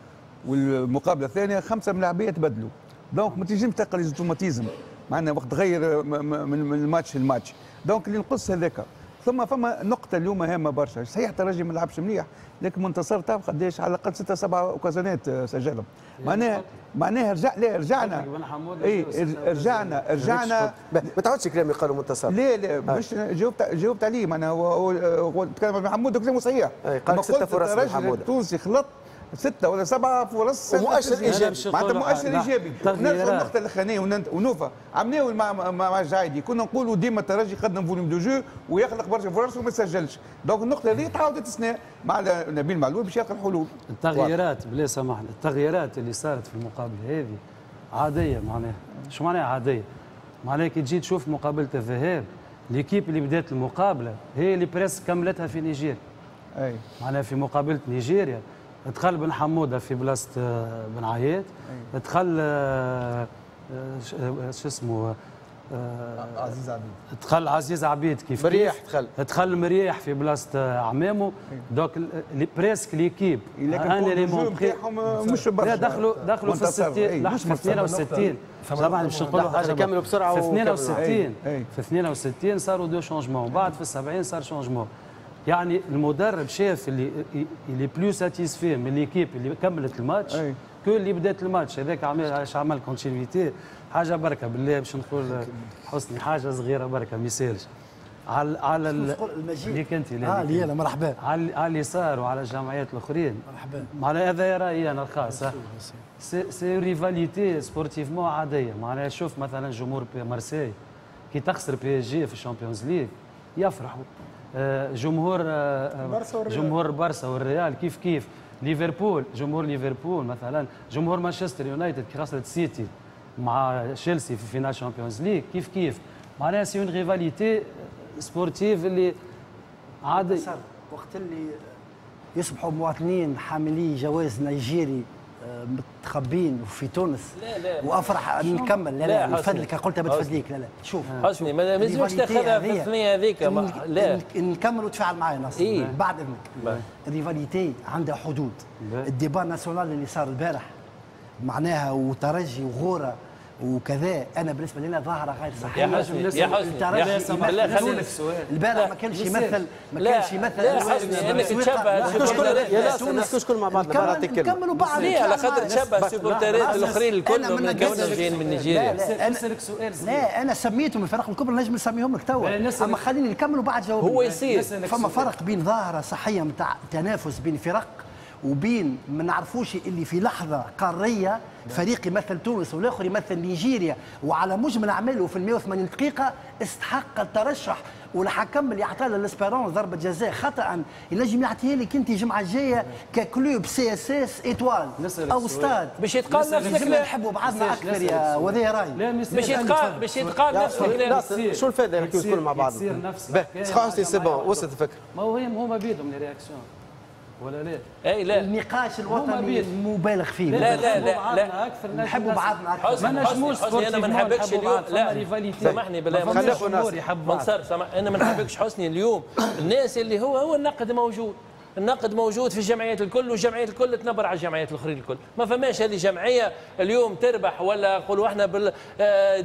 Speaker 5: والمقابلة الثانية خمسة ملاعبية تبدلوا، donc ما تنجمش تلقى les automatismes، معناها وقت تغير من ال match لل match، donc اللي نقص هذاك. ثم فما نقطة اليوم هامة برشا، صحيح الترجي ما لعبش مليح، لكن منتصر تعرف قداش على الأقل ستة سبعة occasion ات سجلهم، معناها معناها رجع لا رجعنا اي رجعنا رجعنا.
Speaker 1: ما تعودش كلامي قالوا منتصر.
Speaker 5: لا لا، مش جاوبت جاوبت عليه، معناها هو هو تكلم بن حموده كلامه صحيح.
Speaker 1: قال ستة فرص
Speaker 5: بن حموده التونسي خلط ستة ولا سبعة فرص.
Speaker 1: ومؤشر ايجابي.
Speaker 5: معناتها مؤشر ايجابي. نرجع النقطة الاخرانية ونوفا عملناو مع مع الجعايدي، كنا نقولوا ديما الترجي قدم volume de jeu ويخلق برشا فرص وما سجلش، donc النقطة هذه تعاودت السنة مع نبيل معلول باش يلقى الحلول.
Speaker 2: التغييرات بلا سامحني، التغييرات اللي صارت في المقابلة هذه عادية. معناها شو معناها عادية؟ معناها كي تجي تشوف مقابلة الذهاب، l'équipe اللي بدات المقابلة هي اللي presque كملتها في نيجيريا.
Speaker 5: اي
Speaker 2: معناها في مقابلة نيجيريا دخل بن حموده في بلاصة آه، بن عياد، دخل آه، آه، شو اسمه
Speaker 3: عزيز عبيد.
Speaker 2: دخل عزيز عبيد كيف
Speaker 1: مريح دخل.
Speaker 2: دخل مريح في بلاصة عمامو، donc presque l'équipe
Speaker 5: un élément مش
Speaker 2: برشا. دخلوا دخلوا في الستين، في اثنين وستين، سامحني باش نقولوا حاجه،
Speaker 1: كملوا بسرعه.
Speaker 2: في اثنين وستين، في اثنين وستين صاروا deux changements، بعد في السبعين صار changement. يعني المدرب شاف اللي il est plus satisfait من l'équipe اللي كملت الماتش que اللي بدات الماتش. هذاك عمل علاش عمل continuité. حاجة بركة بالله باش نقول حسني حاجة صغيرة بركة ما يسالش على على
Speaker 8: المجيد
Speaker 2: ليك انت.
Speaker 8: اه لي انا، مرحبا.
Speaker 2: على على اليسار وعلى الجمعيات الاخرين.
Speaker 8: مرحبا.
Speaker 2: معناها هذا رايي انا الخاص، c'est c'est rivalité sportivement عاديه. معناها شوف مثلا جمهور مارسيل كي تخسر PSG في ال Champions League يفرحوا، آه، جمهور آه، جمهور برشا والريال كيف كيف، ليفربول جمهور ليفربول مثلا، جمهور مانشستر يونايتد كي خسرت سيتي مع تشيلسي في finale Champions League كيف كيف. معناها c'est une rivalité sportive اللي عادي.
Speaker 8: وقت اللي يصبحوا مواطنين حاملي جواز نيجيري متخبين في تونس.
Speaker 9: لا لا
Speaker 8: وافرح نكمل. لا لا نفدلك، قلتها بتفدليك. لا لا شوف
Speaker 9: حسني ما لازمش تاخذها في الثنية هذيك. لا
Speaker 8: نكمل وتفاعل معايا ناصر. إيه؟ بعد اذنك. ال rivalité عندها حدود. ال débat national اللي صار البارح معناها وترجي وغوره وكذا، انا بالنسبة لنا ظاهره غير صحيحه.
Speaker 9: يا حسني يا حسني لا خلينا
Speaker 8: البارح ما كانش يمثل ما كانش يمثل.
Speaker 9: لا حسني انك تشبه
Speaker 1: نحكوش كل مع بعضنا، نعطيك كلمة
Speaker 8: نكملوا بعض.
Speaker 9: ليه؟ على خاطر تشبه السوبورترات الاخرين الكل من كونهم جايين من نيجيريا.
Speaker 8: لا نسالك سؤال. لا انا سميتهم الفرق الكبرى نجم نسميهم لك توا، اما خليني نكملوا بعد جاوب.
Speaker 9: هو يصير
Speaker 8: فما فرق بين ظاهره صحية نتاع تنافس بين فرق وبين ما نعرفوش اللي في لحظة قارية فريق يمثل تونس والاخر يمثل نيجيريا، وعلى مجمل اعماله في مئة وثمانين دقيقة استحق الترشح، والحكم اللي اعطاه لل Espérance ضربه جزاء خطا ينجم يعطيها لك انت الجمعة الجاية ك club CSS Étoile او ستاد
Speaker 9: باش يتقال نفس الكلام.
Speaker 8: نحبوا بعضنا اكثر يا وذا راي.
Speaker 9: باش يتقال باش يتقال نفس الكلام.
Speaker 1: شو الفائدة نحكيو الكل مع بعض؟ c'est bon وصلت الفكرة.
Speaker 2: ما هو هما بيدهم les réactions ولا لا؟
Speaker 9: اي لا
Speaker 8: النقاش الوطني مبالغ فيه.
Speaker 9: لا لا لا لا
Speaker 8: نحبوا بعضنا اكثر.
Speaker 2: ما نجموش.
Speaker 9: انا ما نحبكش اليوم. لا سامحني بالله منصر سامح، انا ما نحبكش حسني اليوم. الناس اللي هو هو النقد موجود، النقد موجود في الجمعيات الكل، والجمعيات الكل تنبر على الجمعيات الاخرين الكل. ما فماش هذه جمعية اليوم تربح ولا نقولوا احنا بال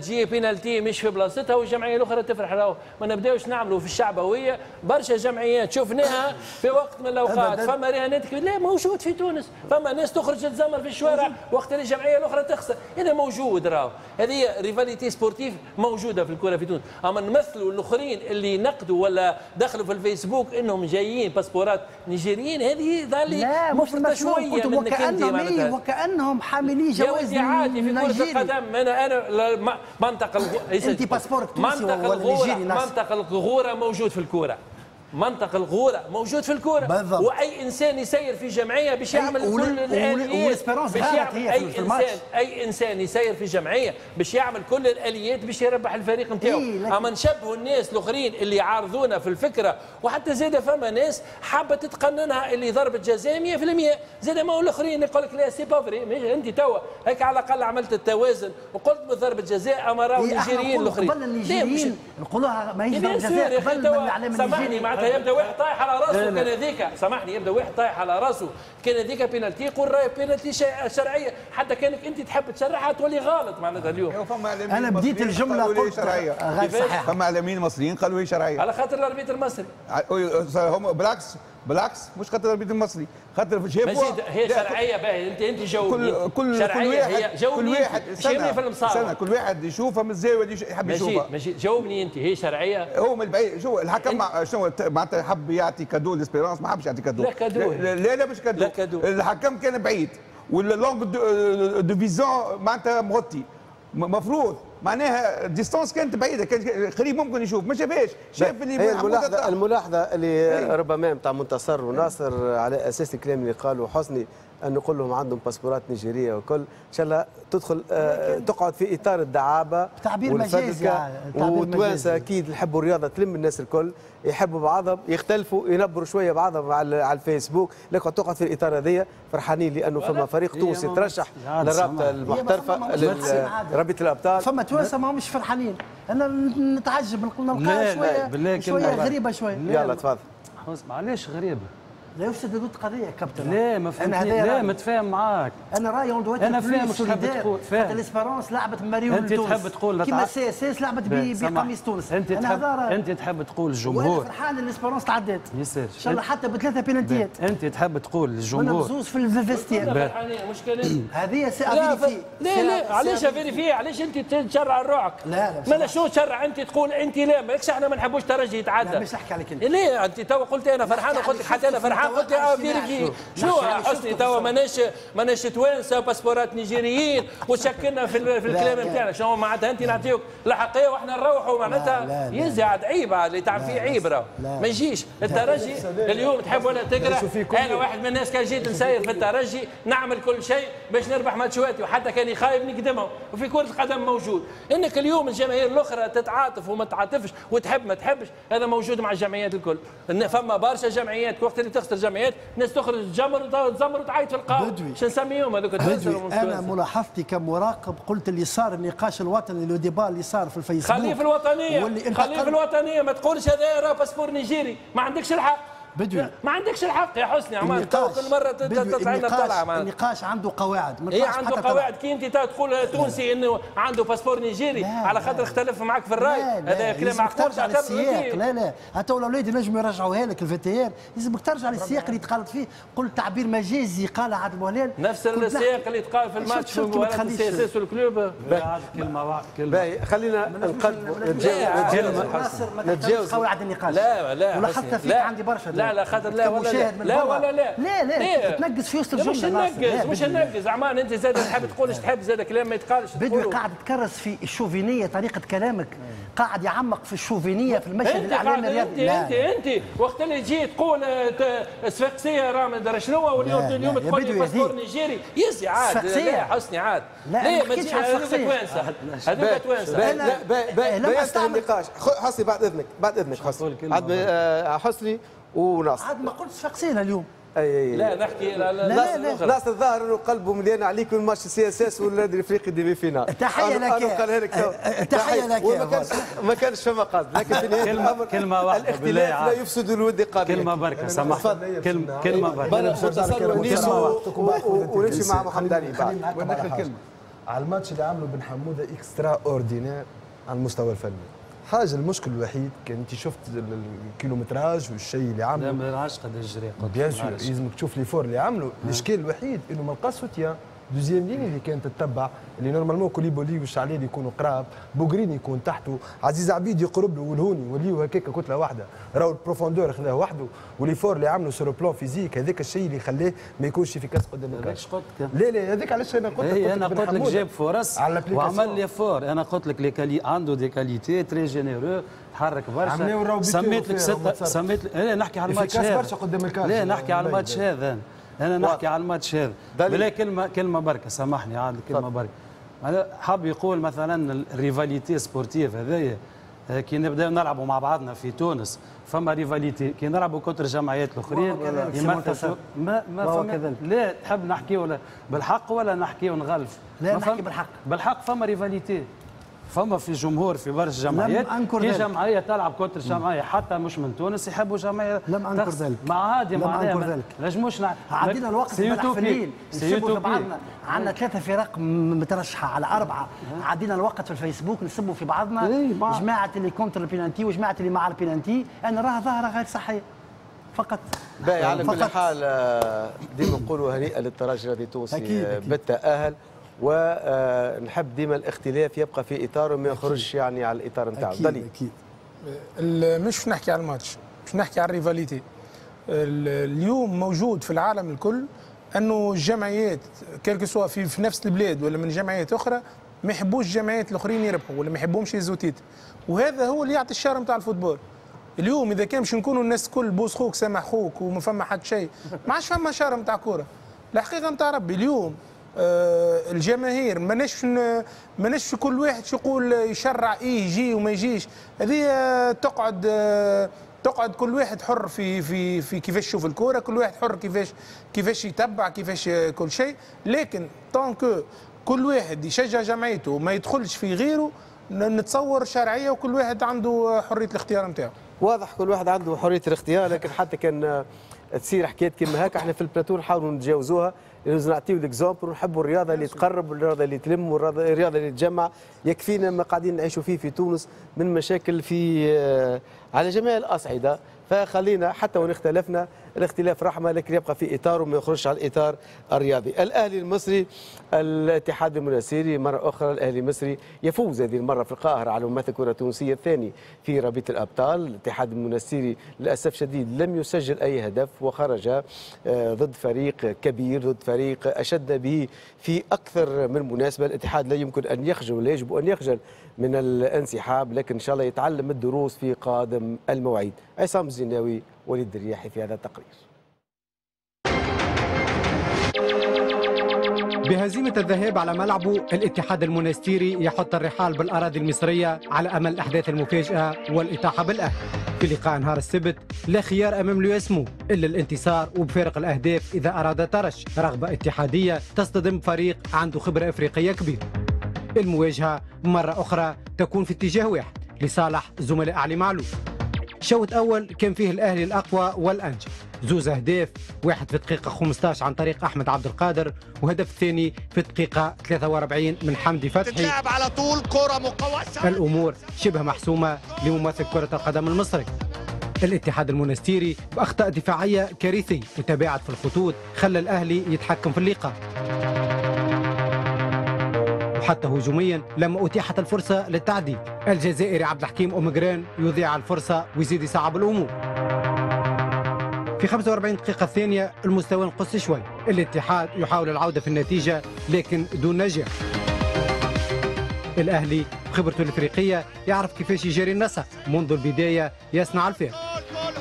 Speaker 9: تجي بينالتي مش في بلاصتها والجمعية الاخرى تفرح. راهو ما نبداوش نعملوا في الشعبوية. برشا جمعيات شفناها في وقت من الاوقات فما رهانات. لا موجود في تونس، فما ناس تخرج تزمر في الشوارع وقت اللي الجمعية الاخرى تخسر. هذا موجود، راهو هذه rivalité sportive موجودة في الكره في تونس. اما نمثلوا الاخرين اللي نقدوا ولا دخلوا في الفيسبوك انهم جايين باسبورات نيجيريين، هذه ظل مفرطة شوية منك انت معناتها.
Speaker 8: وكانهم حاملي جواز
Speaker 9: عادي في كره القدم. انا انا منطق الغ...
Speaker 8: انت باسبورك تونسي ولا نيجيري؟
Speaker 9: منطق الغورة موجود في الكورة، منطق الغورة موجود في الكورة. بالضبط. واي انسان يسير في جمعية باش يعمل كل الاليات باش يعمل اي انسان اي انسان يسير في جمعية باش يعمل كل الاليات باش يربح الفريق نتاعو. إيه اما نشبهوا الناس الاخرين اللي يعارضونا في الفكرة، وحتى زاد فما ناس حابة تتقننها اللي ضربه جزاء مئة بالمئة، زاد ما هو الاخرين يقول لك لا c'est pas vrai. انت توا هيك على الاقل عملت التوازن وقلت بضربه جزاء، اما راهو النيجيريين الاخرين
Speaker 8: قبل النيجيريين نقولوها ماهيش ضربه جزاء قبل من الاعلام النيجيري.
Speaker 9: معناتها يبدا واحد طايح على راسه كان هذيك، سامحني، يبدا واحد طايح على راسه كان هذيك بينالتي، يقول راهي بينالتي شرعية، حتى كانك انت تحب تشرحها تولي غلط معناتها اليوم.
Speaker 8: انا بديت الجملة قلت غير صحيحه.
Speaker 5: فما اعلاميين مصريين قالوا هي شرعية
Speaker 9: على خاطر ال arbitre المصري.
Speaker 5: هم بالعكس بالعكس مش خاطر ال arbitre المصري، خاطر شافوا
Speaker 9: هي شرعية. باهي انت انت جاوبني.
Speaker 5: كل كل
Speaker 9: شرعية
Speaker 5: كل واحد
Speaker 9: كل
Speaker 5: واحد
Speaker 9: شيمني في المصارعة،
Speaker 5: كل واحد يشوفها من الزاوية اللي يحب يشوفها.
Speaker 9: ماشي جاوبني انت، هي شرعية؟
Speaker 5: هو من البعيد شو الحكم شنو معناتها حب يعطي cadeau ل Espérance، ما حبش يعطي cadeau.
Speaker 9: لا cadeau،
Speaker 5: لا لا مش cadeau.
Speaker 9: لا cadeau.
Speaker 5: الحكم كان بعيد وال l'angle de vision معناتها مغطي، مفروض معناها distance كانت بعيدة، كان قريب ممكن يشوف، ما شافهاش، شاف اللي
Speaker 1: هي الملاحظة. الملاحظة اللي ربما نتاع منتصر وناصر على اساس الكلام اللي قاله حسني، ان نقول لهم عندهم باسبورات نيجيريه وكل، ان شاء الله تدخل آه تقعد في اطار الدعابة
Speaker 8: تعبير مجازي.
Speaker 1: وتوانسه اكيد يحبوا الرياضة تلم الناس الكل، يحبوا بعضهم، يختلفوا ينبروا شوية بعضهم على على الفيسبوك، لكن تقعد في الاطار هذيا. فرحانين لانه فما فريق تونسي ترشح للرابطة المحترفه رابطه الابطال.
Speaker 8: فما توانسة ما همش فرحانين، انا نتعجب نلقاها شوية شوية غريبة شوية.
Speaker 1: يلا تفضل.
Speaker 2: معليش غريبة.
Speaker 8: لا يفسد ضد قضية كابتن.
Speaker 2: لا ما فهمتني، لا متفاهم معاك.
Speaker 8: انا رايي on doit
Speaker 2: انا فاهم تحب تقول،
Speaker 8: فاهم l'Espérance لعبت مريول
Speaker 2: انت
Speaker 8: تونس
Speaker 2: تحب تقول
Speaker 8: كيما CSS لعبت بقميص تونس.
Speaker 2: انت تحب انت تحب تقول الجمهور،
Speaker 8: وانا فرحان l'Espérance تعدات
Speaker 2: يسير
Speaker 8: ان شاء الله حتى بثلاثة بينالتيات.
Speaker 2: انت تحب تقول الجمهور
Speaker 8: زوز في ال vestiaire.
Speaker 9: مشكلة
Speaker 8: هذه c'est à vérifier.
Speaker 9: لا لا علاش à vérifier؟ علاش انت تشرع روحك؟
Speaker 8: لا لا
Speaker 9: ما شنو تشرع؟ انت تقول انت لا ماكش، احنا ما نحبوش ترجي يتعدى.
Speaker 8: لا مش نحكي عليك انت.
Speaker 9: ليه انت توا قلت انا فرحان وقلت لك حتى انا فرحان، قلت à vérifier. شنو حسني توا ماناش ماناش توانسة باسبورات نيجيريين وتشكلنا في, في الكلام نتاعنا. شنو معناتها انت نعطيوك الحقيه واحنا نروحوا معناتها يزي عاد عيب اللي تعمل فيه عيب راه ما يجيش. الترجي اليوم تحب ولا تكره، انا واحد من الناس كان جيت نسير في الترجي نعمل كل شيء باش نربح ماتشواتي، وحتى كان يخايب نقدمهم. وفي كره القدم موجود انك اليوم الجماهير الاخرى تتعاطف وما تعاطفش وتحب ما تحبش، هذا موجود مع الجمعيات الكل. فما برشا جمعيات وقت اللي تخسر وسط الجمعيات، ناس تخرج تجمر تزمر وتعيط في القهوة، شو نسميهم هذوك؟
Speaker 8: انا ملاحظتي كمراقب قلت اللي صار النقاش الوطني le débat اللي صار في الفيسبوك،
Speaker 9: خليه في الوطنية، خليه في الوطنية، ما تقولش هذا راه passeport نيجيري، ما عندكش الحق
Speaker 8: بدوي،
Speaker 9: ما عندكش الحق يا حسني. عمال كل مرة تطلع لنا طلعه.
Speaker 8: النقاش عنده قواعد،
Speaker 9: اي عنده قواعد. كي انت تقول تونسي انه عنده passeport نيجيري على خاطر اختلف معك في الراي، هذا كلام معقول.
Speaker 8: ترجع للسياق. لا لا، حتى الاولاد ينجموا يرجعوها لك ال VTR، لازمك ترجع للسياق اللي تقالت فيه. قلت تعبير مجازي قال عادل بوهلال،
Speaker 9: نفس السياق اللي تقال في الماتش في مباراة ال CSS وال Club.
Speaker 2: كلمة واحدة،
Speaker 1: كلمة، خلينا نقدموا نتجاوز
Speaker 8: قواعد النقاش.
Speaker 9: لا لا،
Speaker 8: ولاحظتها فيك عندي برشا.
Speaker 9: لا لا خاطر لا ولا لا لا ولا لا
Speaker 8: لا لا تنقص في وسط الجملة.
Speaker 9: مش ننقص، مش ننقص عمان، انت زاد تحب تقول ايش تحب، زاد كلام ما يتقالش.
Speaker 8: بدوي قاعد تكرس في الشوفينيه، طريقه كلامك قاعد يعمق في الشوفينيه في المشهد الاعلامي
Speaker 9: الرياضي. انت انت انت وقت اللي تجي تقول صفاقسيه راه ما ادري شنو، واليوم اليوم تقول لي passeport نيجيري، يزي عاد. لا حسني عاد،
Speaker 8: لا ما
Speaker 9: تجيش هذوك توانسة، هذوك توانسة.
Speaker 1: لا لا، النقاش حسني بعد اذنك، بعد اذنك حسني، حسني وناصر.
Speaker 8: عاد ما قلتش صفاقسينا اليوم.
Speaker 1: اي اي
Speaker 9: لا نحكي لا لا
Speaker 1: لا، ناصر الظاهر انه قلبه مليان عليك من ماتش CSS والنادي الافريقي demi-finale.
Speaker 8: تحية لك، تحية لك.
Speaker 1: وما كانش ما كانش فما قصد، لكن في نهاية الامر
Speaker 2: كلمة واحدة،
Speaker 1: الاختلاف لا يفسد الود قضية.
Speaker 2: كلمة بركة سامحني، كلمة كلمة
Speaker 1: بركة ونمشي مع محمد علي
Speaker 3: بعد. وناخذ كلمة على الماتش اللي عمله بن حموده extraordinaire على المستوى الفني. حاجة المشكل الوحيد كان انت شفت ال kilométrage والشيء اللي عمله،
Speaker 2: لا ما نعرفش قد الجري،
Speaker 3: bien sûr لازمك تشوف l'effort اللي عمله. الاشكال الوحيد انه ما لقاش soutien deuxième ligne اللي كانت تتبع، اللي normalement كوليبولي والشعليل يكونوا قراب، بوغرين يكون تحته، عزيز عبيد يقرب له، والهوني يوليو هكاك كتلة واحدة، راهو ال profondeur خذاه وحده، و l'effort اللي عمله sur plan physique هذاك الشيء اللي خلاه ما يكونش efficace قدام الكاش. لا لا، هذاك علاش انا قلت لك،
Speaker 2: انا قلت لك جاب فرص وعمل l'effort. انا قلت لك les quali عنده des qualités très généreux، تحرك برشا. سميت لك ستة، سميت لك، لا نحكي على الماتش هذا
Speaker 3: برشا قدام الكاش.
Speaker 2: لا نحكي على الماتش هذا، انا نحكي على الماتش هذا. بلا كلمة، كلمة بركة سامحني عاد، كلمة بركة. حاب يقول مثلا ال rivalité sportive هذايا، كي نبداو نلعبوا مع بعضنا في تونس فما rivalité، كي نلعبوا contre الجمعيات الاخرين يمثلوا ما ما فما. لا تحب نحكيو بالحق ولا نحكيو نغلف؟
Speaker 8: لا نحكي بالحق.
Speaker 2: بالحق فما rivalité، فما في جمهور في برشا جمعيات، كي جمعية تلعب contre جمعية حتى مش من تونس يحبوا جمعية.
Speaker 8: لم انكر ذلك،
Speaker 2: ما عادي،
Speaker 8: لم انكر ذلك.
Speaker 2: نجموش نع...
Speaker 8: عدينا الوقت امبارح في الليل نسبوا في بعضنا، عندنا ثلاثة فرق مترشحه على اربعة، عدينا الوقت في الفيسبوك نسبوا في بعضنا، جماعة اللي contre ال penalty وجماعه اللي مع البينالتي. انا راها ظاهره غير صحية فقط.
Speaker 1: باهي، على كل حال ديما نقولوا هنيئا للترجي الرياضي التونسي بالتاهل، ونحب ديما الاختلاف يبقى في اطاره وما يخرجش يعني على الاطار نتاعو.
Speaker 6: اكيد اكيد. مش نحكي على الماتش، مش نحكي على ال rivalité. اليوم موجود في العالم الكل انه الجمعيات quel que soit في, في نفس البلاد ولا من جمعيات اخرى ما يحبوش الجمعيات الاخرين يربحوا ولا ما يحبوهمش يهزوا titre، وهذا هو اللي يعطي ال charme نتاع ال football. اليوم اذا كان باش نكونوا الناس الكل بوس خوك سامح خوك وما فما حد شيء، ما عادش فما charme نتاع كورة. الحقيقة نتاع ربي اليوم آه الجماهير ماناش ماناش كل واحد يقول يشرع ايه يجي وما يجيش، هذه تقعد آه تقعد كل واحد حر في في في كيفاش يشوف الكورة، كل واحد حر كيفاش كيفاش يتبع كيفاش كل شيء، لكن tant que كل واحد يشجع جمعيته وما يدخلش في غيره نتصور شرعية، وكل واحد عنده حرية الاختيار نتاعو.
Speaker 1: واضح كل واحد عنده حرية الاختيار، لكن حتى كان تصير حكايات كيما هكا احنا في البلاتو نحاولوا نتجاوزوها، لازم نعطيو l'exemple ونحبوا الرياضة اللي تقرب والرياضة اللي تلم والرياضة اللي تجمع. يكفينا ما قاعدين نعيشوا فيه في تونس من مشاكل في على جميع الاصعدة، فخلينا حتى وان اختلفنا الاختلاف رحمه، لكن يبقى في اطاره وما يخرجش على الاطار الرياضي. الاهلي المصري الاتحاد المنستيري مرة اخرى، الاهلي المصري يفوز هذه المرة في القاهرة على ممثل الكره التونسية الثاني في رابطه الابطال. الاتحاد المنستيري للاسف شديد لم يسجل اي هدف وخرج ضد فريق كبير، ضد فريق اشد به في اكثر من مناسبة. الاتحاد لا يمكن ان يخجل ولا يجب ان يخجل من الانسحاب، لكن ان شاء الله يتعلم الدروس في قادم المواعيد. عصام الزناوي وليد الرياحي في هذا التقرير.
Speaker 15: بهزيمة الذهاب على ملعبه الاتحاد المنستيري يحط الرحال بالأراضي المصرية على أمل أحداث المفاجأة والإطاحة بالأهلي. في لقاء نهار السبت لا خيار أمام اليو إلا الانتصار وبفارق الأهداف إذا أراد ترش. رغبة اتحادية تصطدم فريق عنده خبرة إفريقية كبيرة. المواجهة مرة أخرى تكون في اتجاه واحد لصالح زملاء علي معلول. شوط أول كان فيه الأهلي الأقوى والأنجح، زوز أهداف، واحد في دقيقة خمسة عشر عن طريق أحمد عبد القادر، وهدف الثاني في دقيقة ثلاثة وأربعين من حمدي فتحي.
Speaker 20: تتلعب على طول كرة مقوسة.
Speaker 15: الأمور شبه محسومة لممثل كرة القدم المصري. الاتحاد المونستيري بأخطاء دفاعية كارثية وتباعد في الخطوط خلى الأهلي يتحكم في اللقاء، وحتى هجوميا لما أتيحت الفرصة للتعديل الجزائري عبد الحكيم أومجران يضيع الفرصة ويزيد يصعب الأمور. في خمسة وأربعين دقيقة الثانية المستوى نقص شوي، الاتحاد يحاول العودة في النتيجة لكن دون نجاح. الأهلي بخبرته الإفريقية يعرف كيفاش يجري النسق منذ البداية، يصنع الفارق.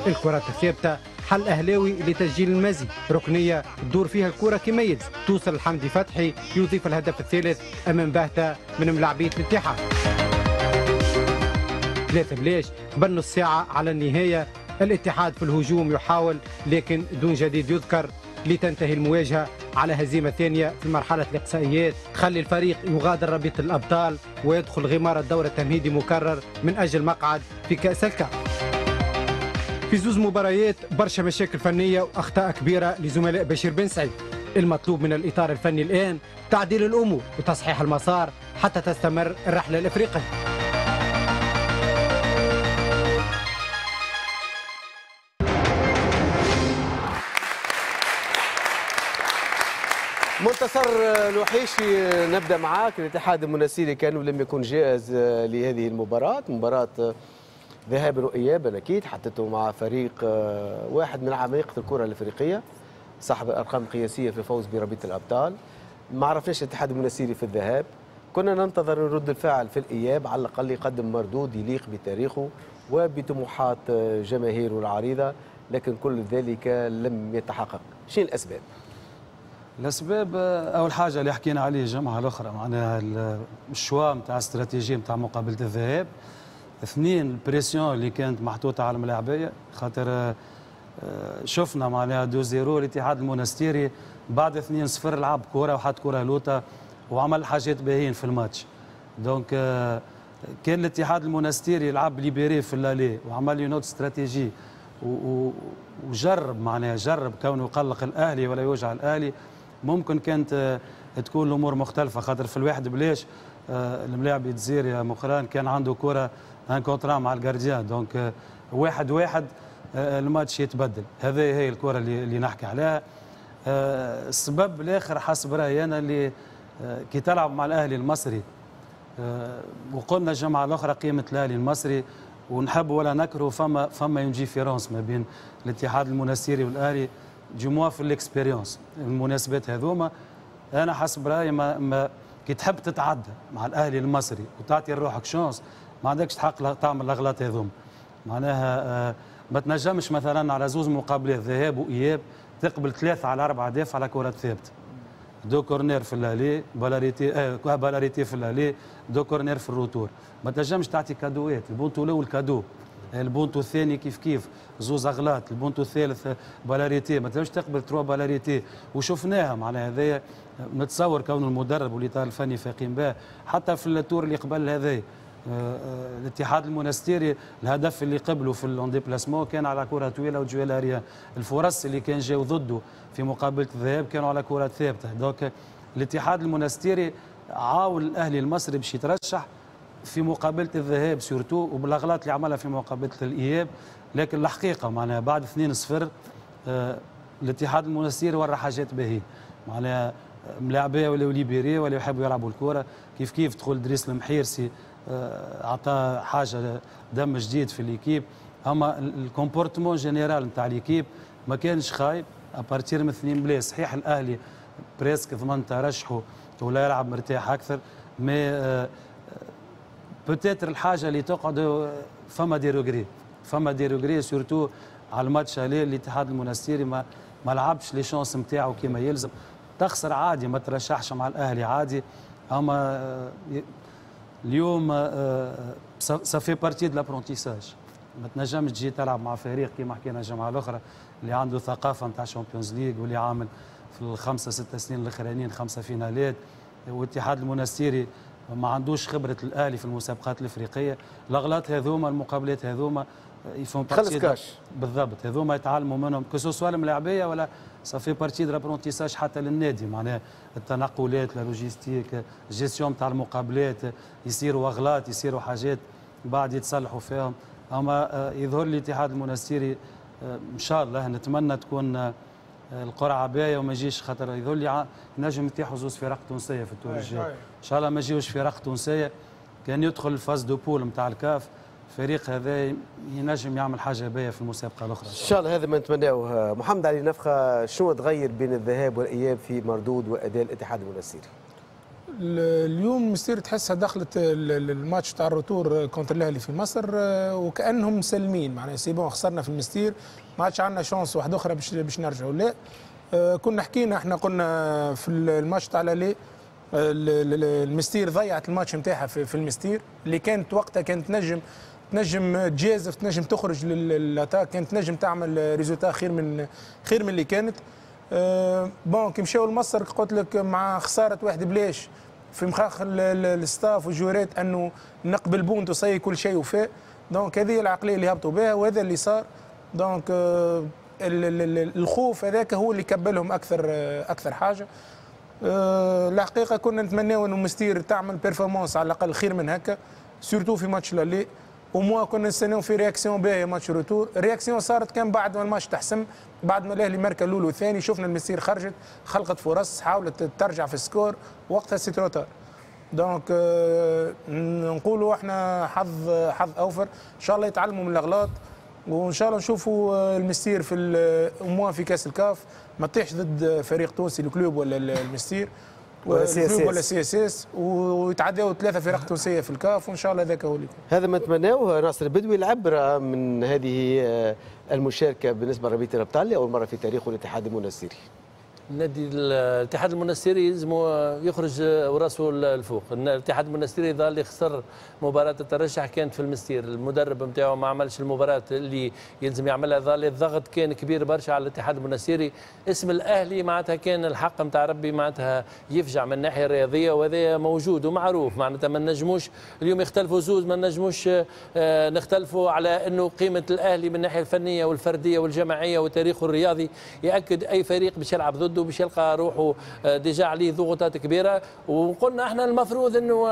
Speaker 15: الكرات الثابتة حل أهلاوي لتسجيل المزيد، ركنية تدور فيها الكرة كما يلزم، توصل لحمدي فتحي يضيف الهدف الثالث أمام بهتة من ملاعبية الاتحاد. ثلاثة بلاش قبل نص ساعة على النهاية، الاتحاد في الهجوم يحاول لكن دون جديد يذكر، لتنتهي المواجهة على هزيمة ثانية في مرحلة الإقصائيات تخلي الفريق يغادر رابطة الأبطال ويدخل غمار الدور التمهيدي مكرر من أجل مقعد في كأس الكاف. في زوز مباريات برشا مشاكل فنية وأخطاء كبيرة لزملاء بشير بن سعيد. المطلوب من الإطار الفني الآن تعديل الأمور وتصحيح المسار حتى تستمر الرحلة الإفريقية.
Speaker 1: منتصر الوحيشي، نبدا معاك. الاتحاد المنستيري كان لم يكن جاهز لهذه المباراة، مباراة ذهابا وايابا اكيد، حطته مع فريق واحد من عمالقة الكره الافريقية، صاحب الارقام القياسية في الفوز برابطه الابطال. ما عرفناش الاتحاد المنستيري في الذهاب، كنا ننتظر رد الفعل في الاياب، على الاقل يقدم مردود يليق بتاريخه وبطموحات جماهيره العريضة، لكن كل ذلك لم يتحقق. شنو الاسباب؟
Speaker 2: الاسباب اول حاجة اللي حكينا عليه الجمعة الاخرى، معناها ال choix نتاع استراتيجية نتاع مقابله الذهاب. اثنين ال pression اللي كانت محطوطة على الملاعبيه، خاطر شفنا معناها deux zéro الاتحاد المونستيري بعد اثنين صفر لعب كره وحط كره لوطه وعمل حاجات باهيين في ال match. donc كان الاتحاد المونستيري لعب libéré في l'aller وعمل une autre stratégie وجرب، معناها جرب كونه يقلق الاهلي ولا يوجع الاهلي، ممكن كانت تكون الامور مختلفة. خاطر في الواحد بلاش الملاعب يتزير يا مقران كان عنده كره un contre un مع ال gardien، donc واحد واحد الماتش يتبدل. هذه هي الكره اللي, اللي نحكي عليها. السبب الاخر حسب رايي انا اللي كي تلعب مع الاهلي المصري، وقلنا الجمعة الاخرى قيمة الاهلي المصري ونحب ولا نكره، فما فما une différence ما بين الاتحاد المنستيري والاهلي du moins في l'expérience. المناسبات هذوما انا حسب رايي ما, ما كي تحب تتعدى مع الاهلي المصري وتعطي لروحك chance، ما عندكش حق تعمل الاغلاط هذوما. معناها ما تنجمش مثلا على زوز مقابلات ذهاب واياب تقبل ثلاثة على اربعة اهداف على كرات ثابتة، deux corners في l'aller، balle arrêtée آه balle arrêtée في l'aller، deux corners في ال retour. ما تنجمش تعطي cadeau ات، البونتو الاول cadeau، البونتو الثاني كيف كيف زوز اغلاط، البونتو الثالث balle arrêtée، ما تنجمش تقبل trois balles arrêtées. وشفناها معناها هذايا، نتصور كون المدرب والاطار الفني فاقين بها حتى في ال tour اللي قبل هذايا. الاتحاد المونستيري الهدف اللي قبله في ال en déplacement كان على كره طويلة و duel aérien، الفرص اللي كان جاو ضده في مقابله الذهاب كانوا على كرات ثابتة. donc الاتحاد المونستيري عاون الاهلي المصري باش يترشح في مقابله الذهاب surtout، وبالاغلاط اللي عملها في مقابله الاياب. لكن الحقيقة معناها بعد اثنين صفر الاتحاد المونستيري ورى حاجات باهيه، معناها ملاعبيه ولاو libérés ولا يحبوا يلعبوا الكره كيف كيف. دخل دريس المحيرسي عطى حاجة دم جديد في l'équipe. اما ال comportement général نتاع l'équipe ما كانش خايب à partir من اثنين بلاش. صحيح الاهلي presque ضمن ترشحه ولا يلعب مرتاح اكثر، mais peut-être الحاجة اللي تقعد فما des regrets، فما des regrets surtout على ال match aller. الاتحاد المونستيري ما ما لعبش les chances نتاعو كيما يلزم. تخسر عادي، ما ترشحش مع الاهلي عادي، اما اليوم ça fait partie de l'apprentissage. ما تنجمش تجي تلعب مع فريق كما حكينا الجمعة الاخرى اللي عنده ثقافة نتاع Champions League واللي عامل في الخمسة ستة سنين الاخرانيين خمسة فينالات، والاتحاد المنستيري ما عندوش خبره الاهلي في المسابقات الافريقية. الاغلاط هذوما، المقابلات هذوما ils font
Speaker 1: partie
Speaker 2: بالضبط، هذوما يتعلموا منهم que ce soit الملاعبيه ولا ça fait partie de l'apprentissage حتى للنادي، معناها التنقلات، la logistique، gestion تاع المقابلات، يصيروا اغلاط، يصيروا حاجات بعد يتصلحوا فيهم. اما يظهر لي الاتحاد المنستيري ان شاء الله نتمنى تكون القرعة باهيه وما يجيش، خاطر يظهر لي نجم يتيحوا زوز فرق تونسية في ال tour الجاي، ان شاء الله ما يجيوش فرق تونسية. كان يدخل ال phase de poules نتاع الكاف، الفريق هذا ينجم يعمل حاجة باهيه في المسابقة الاخرى ان
Speaker 1: شاء الله. هذا ما نتمناه. محمد علي نفخه، شنو تغير بين الذهاب والاياب في مردود واداء الاتحاد المنستيري؟
Speaker 6: اليوم المستير تحسها دخلت الماتش تاع ال retour contre الاهلي في مصر وكانهم مسلمين، معناها c'est bon خسرنا في المستير، ما عادش عندنا chance واحدة اخرى باش باش نرجعوا. لا، كنا حكينا احنا قلنا في الماتش تاع l'aller المستير ضيعت الماتش نتاعها في المستير اللي كانت وقتها كانت تنجم تنجم تجازف، تنجم تخرج لل attaque، كانت تنجم تعمل résultat خير من خير من اللي كانت. أه bon كي مشاو لمصر قلت لك مع خسارة واحد بلاش في مخاخ ال staff والجوارات انه نقبل بونت وصي كل شيء وفاء. donc هذه العقلية اللي هبطوا بها وهذا اللي صار. donc أه الخوف هذاك هو اللي كبلهم اكثر اكثر حاجة. أه الحقيقة كنا نتمناو انه مستير تعمل performance على الاقل خير من هكا، surtout في match l'aller، au moins كنا نستناو في réaction باهيه match retour. réaction صارت كان بعد ما الماتش تحسم، بعد ما الاهلي ماركا الاول والثاني، شفنا المستير خرجت خلقت فرص، حاولت ترجع في ال score، وقتها c'est trop tard. donc نقولوا احنا حظ حظ اوفر، ان شاء الله يتعلموا من الاغلاط، وان شاء الله نشوفوا المستير في au moins في كاس الكاف ما تطيحش ضد فريق تونسي ال Club ولا المستير
Speaker 1: ولا CSS
Speaker 6: ولا CSS، ويتعداو ثلاثة فرق تونسية في الكاف، وان شاء الله ذاك هو اللي يكون.
Speaker 1: هذا ما نتمناه. ناصر البدوي، العبرة من هذه المشاركة بالنسبة لربيع الابطال لاول مرة في تاريخه الاتحاد المنستيري.
Speaker 9: النادي الاتحاد المنستيري يلزم يخرج وراسه الفوق. الاتحاد المنستيري ظل اللي خسر مباراة الترشح كانت في المستير، المدرب نتاعو ما عملش المباراة اللي يلزم يعملها، ظل الضغط كان كبير برشا على الاتحاد المنستيري. اسم الاهلي معناتها كان الحق نتاع ربي معناتها يفجع من الناحية الرياضية، وهذا موجود ومعروف، معناتها ما نجموش اليوم يختلفوا زوز، ما نجموش نختلفوا على انه قيمة الاهلي من الناحية الفنية والفرديه والجماعيه وتاريخه الرياضي ياكد اي فريق باش يلعب ضده باش يلقى روحه déjà عليه ضغوطات كبيرة. وقلنا احنا المفروض انه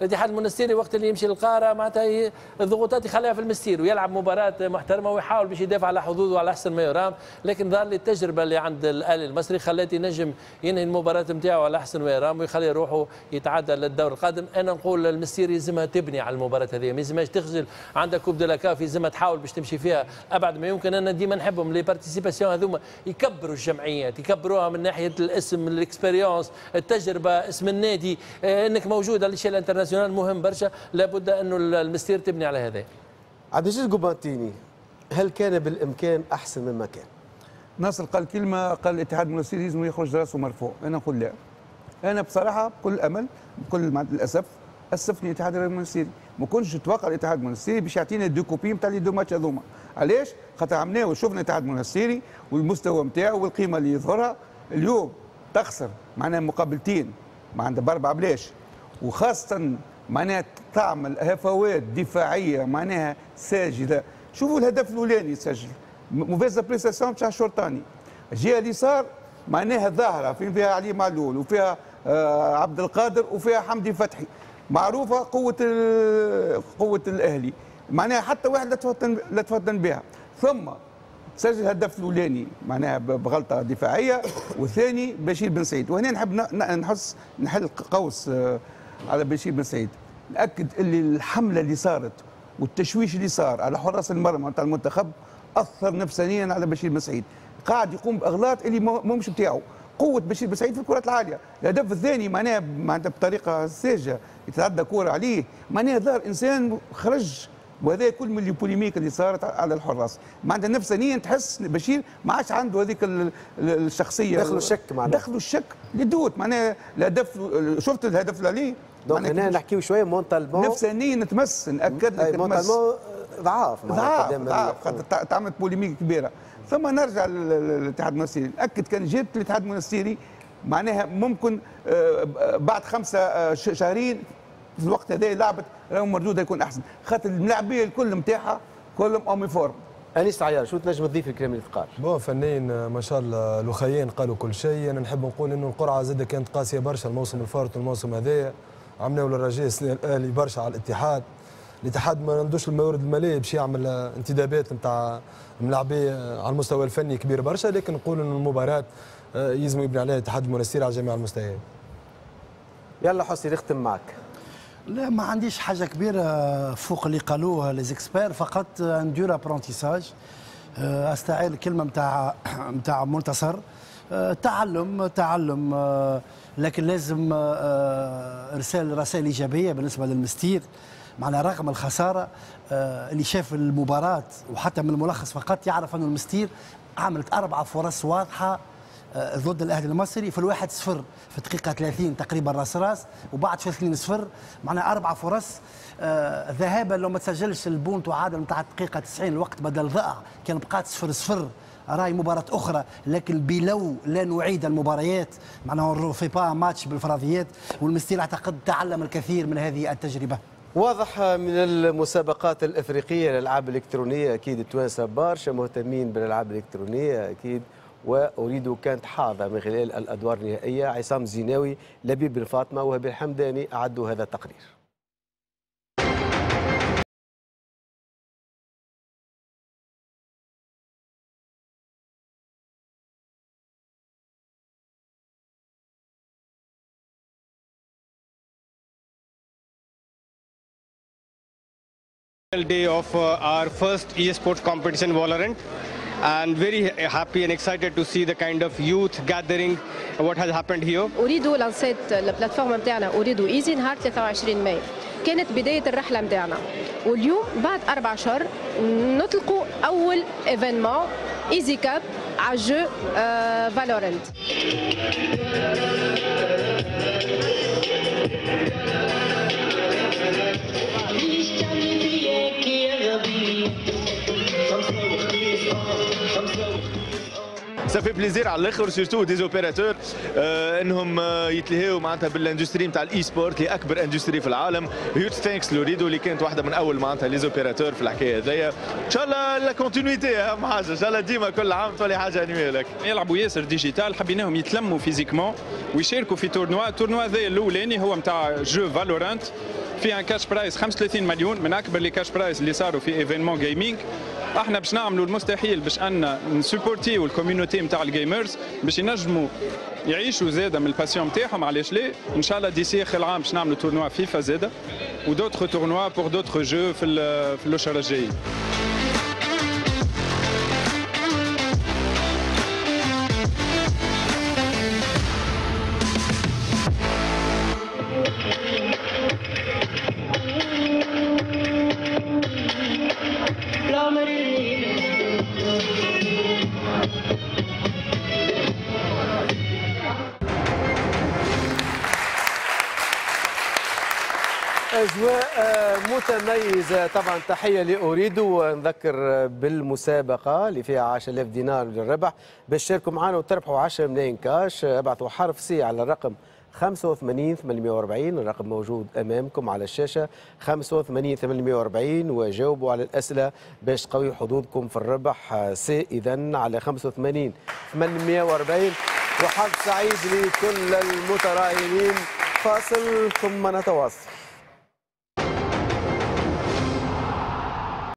Speaker 9: الاتحاد المنستيري وقت اللي يمشي للقارة معناتها الضغوطات يخليها في المستير ويلعب مباراة محترمه ويحاول باش يدافع على حظوظه على احسن ما يرام، لكن ظهر لي التجربة اللي عند الاهلي المصري خلات ينجم ينهي المباراة نتاعو على احسن ما يرام ويخلي روحه يتعدى للدور القادم. انا نقول المستير يلزمها تبني على المباراة هذه، ما يلزمهاش تخجل، عندها Coupe de la CAF يلزمها تحاول باش تمشي فيها ابعد ما يمكن. انا ديما نحبهم les participations هذوما يكبروا الجمعيات، يكبروها من ناحية الاسم، ال expérience، التجربة، اسم النادي، انك موجود على l'échelle internationale مهم برشا، لابد انه المستير تبني على هذا.
Speaker 1: عبد العزيز قبانتيني، هل كان بالامكان احسن مما كان؟
Speaker 5: ناصر قال كلمة، قال الاتحاد المنستيري لازم يخرج راسه مرفوع، انا نقول لا. انا بصراحة بكل امل بكل مع الاسف اسفني الاتحاد المنستيري، ما كنتش نتوقع الاتحاد المنستيري باش يعطينا deux copies نتاع les deux matchs هذوما. علاش؟ خاطر عملناه وشفنا الاتحاد المنستيري والمستوى نتاعو والقيمة اللي يظهرها. اليوم تخسر معناها مقابلتين معناتها باربعة بلاش، وخاصة معناها تعمل هفوات دفاعية معناها ساجدة. شوفوا الهدف الاولاني سجل mauvaise appréciation تاع الشرطاني، الجهة اليسار معناها ظاهره فين فيها علي معلول وفيها آه عبد القادر وفيها حمدي فتحي، معروفة قوة قوة الاهلي، معناها حتى واحد لا تفطن لا تفطن بها. ثم سجل الهدف الاولاني معناها بغلطه دفاعية، والثاني بشير بن سعيد. وهنا نحب نحس نحل قوس على بشير بن سعيد، ناكد اللي الحملة اللي صارت والتشويش اللي صار على حراس المرمى نتاع المنتخب اثر نفسانيا على بشير بن سعيد، قاعد يقوم باغلاط اللي مش بتاعه. قوة بشير بن سعيد في الكرات العالية، الهدف الثاني معناها معناتها بطريقة ساجه يتعدى كره عليه، معناها ظهر انسان خرج، وهذا كل من ال polémique اللي صارت على الحراس، معناتها نفسانيا تحس بشير ما عادش عنده هذيك الشخصية،
Speaker 1: دخلوا الشك معناها،
Speaker 5: دخلوا الشك les doutes معناها الهدف، شفت الهدف اللي عليه.
Speaker 1: donc هنا نحكيو شوية mentalement،
Speaker 5: نفسانيا نتمس، ناكد لك
Speaker 1: mentalement ضعاف
Speaker 5: ضعاف ضعاف تعملت polémique كبيرة. ثم نرجع للاتحاد المنستيري، نأكد كان جبت الاتحاد المنستيري معناها ممكن بعد خمسة شهرين في الوقت هذا لعبت راهو مردودها يكون احسن، خاطر الملاعبيه الكل نتاعها كلهم en forme.
Speaker 1: انيس عيار، شو تنجم تضيف الكلام اللي تقال؟
Speaker 3: bon فنيا ما شاء الله الاخيين قالوا كل شيء. انا نحب نقول انه القرعة زاده كانت قاسية برشا الموسم الفارط والموسم هذايا، عملناو للرجاء الاهلي برشا على الاتحاد. الاتحاد ما عندوش الموارد المالية باش يعمل انتدابات نتاع ملاعبيه على المستوى الفني كبير برشا، لكن نقول انه المباراة يلزم يبني عليها الاتحاد المنستيري على جميع المستويات.
Speaker 1: يلا حسني نختم معك.
Speaker 8: لا ما عنديش حاجة كبيرة فوق اللي قالوها les experts، فقط un dur apprentissage. استعير الكلمة نتاع نتاع منتصر، تعلم تعلم، لكن لازم ارسال رسائل ايجابية بالنسبة للمستير. معنا رغم الخسارة اللي شاف المباراة وحتى من الملخص فقط يعرف أن المستير عملت اربع فرص واضحة ضد الاهلي المصري، في الواحد صفر في دقيقة ثلاثين تقريبا راس راس، وبعد في اثنين صفر، معنا اربع فرص ذهابا لو ما تسجلش البونت وعادل نتاع الدقيقة تسعين الوقت بدل ضائع كان بقات صفر صفر راي مباراة اخرى، لكن بلو لا نعيد المباريات معناها في با ماتش بالفرضيات، والمستير اعتقد تعلم الكثير من هذه التجربة.
Speaker 1: واضح من المسابقات الافريقية للالعاب الالكترونية اكيد التوانسة برشا مهتمين بالالعاب الالكترونية اكيد، وأريد كانت حاضرة من خلال الأدوار النهائية. عصام زيناوي، لبيب بن فاطمة، وهبي الحمداني أعدوا هذا التقرير.
Speaker 21: Day of our first esports competition Valorant, and very happy and excited to see the kind of youth gathering what has happened here.
Speaker 22: أوريدو لانسيت ال plateforme نتاعنا أوريدو Easy نهار ثلاثة وعشرين ماي، كانت بداية الرحلة نتاعنا، واليوم بعد أربع شهور نطلقوا أول événement Easy Cup على jeu Valorant.
Speaker 23: ça fait plaisir على الاخر surtout des opérateurs انهم يتلهيو معناتها بال industrie نتاع ال e-sport اللي اكبر industrie في العالم. huge thanks لوريدو اللي كانت واحدة من اول معناتها les opérateurs في الحكاية هذيا. ان شاء الله la continuité اهم حاجة، ان شاء الله ديما كل عام تولي حاجة annuelle.
Speaker 24: يلعبوا ياسر digital، حبيناهم يتلموا physiquement ويشاركوا في tournoi. ال tournoi هذا الاولاني هو نتاع jeu Valorant، فيه un cash prize خمسة وثلاثين مليون، من اكبر les cash prize اللي صاروا في événement gaming. احنا باش نعملوا المستحيل باش ان نسوبورتيو ال community نتاع ال gamers باش ينجموا يعيشوا زاده من ال passion نتاعهم. علاش لا؟ ان شاء الله d'ici اخر العام باش نعملوا tournoi FIFA زاده و d'autres tournois pour d'autres jeux في في الاشهر الجايين.
Speaker 1: أجواء متميزة طبعا. تحية لأوريدو، ونذكر بالمسابقة اللي فيها عشرة آلاف دينار للربح باش تشاركوا معنا وتربحوا عشرة ملايين كاش. ابعثوا حرف C على الرقم خمسة وثمانين ثمانمئة وأربعين، الرقم موجود أمامكم على الشاشة خمسة وثمانين ثمانمئة وأربعين، وجاوبوا على الأسئلة باش تقوي حظوظكم في الربح. C إذن على خمسة وثمانين ثمانمئة وأربعين. وحظ سعيد لكل المتراهنين. فاصل ثم نتواصل.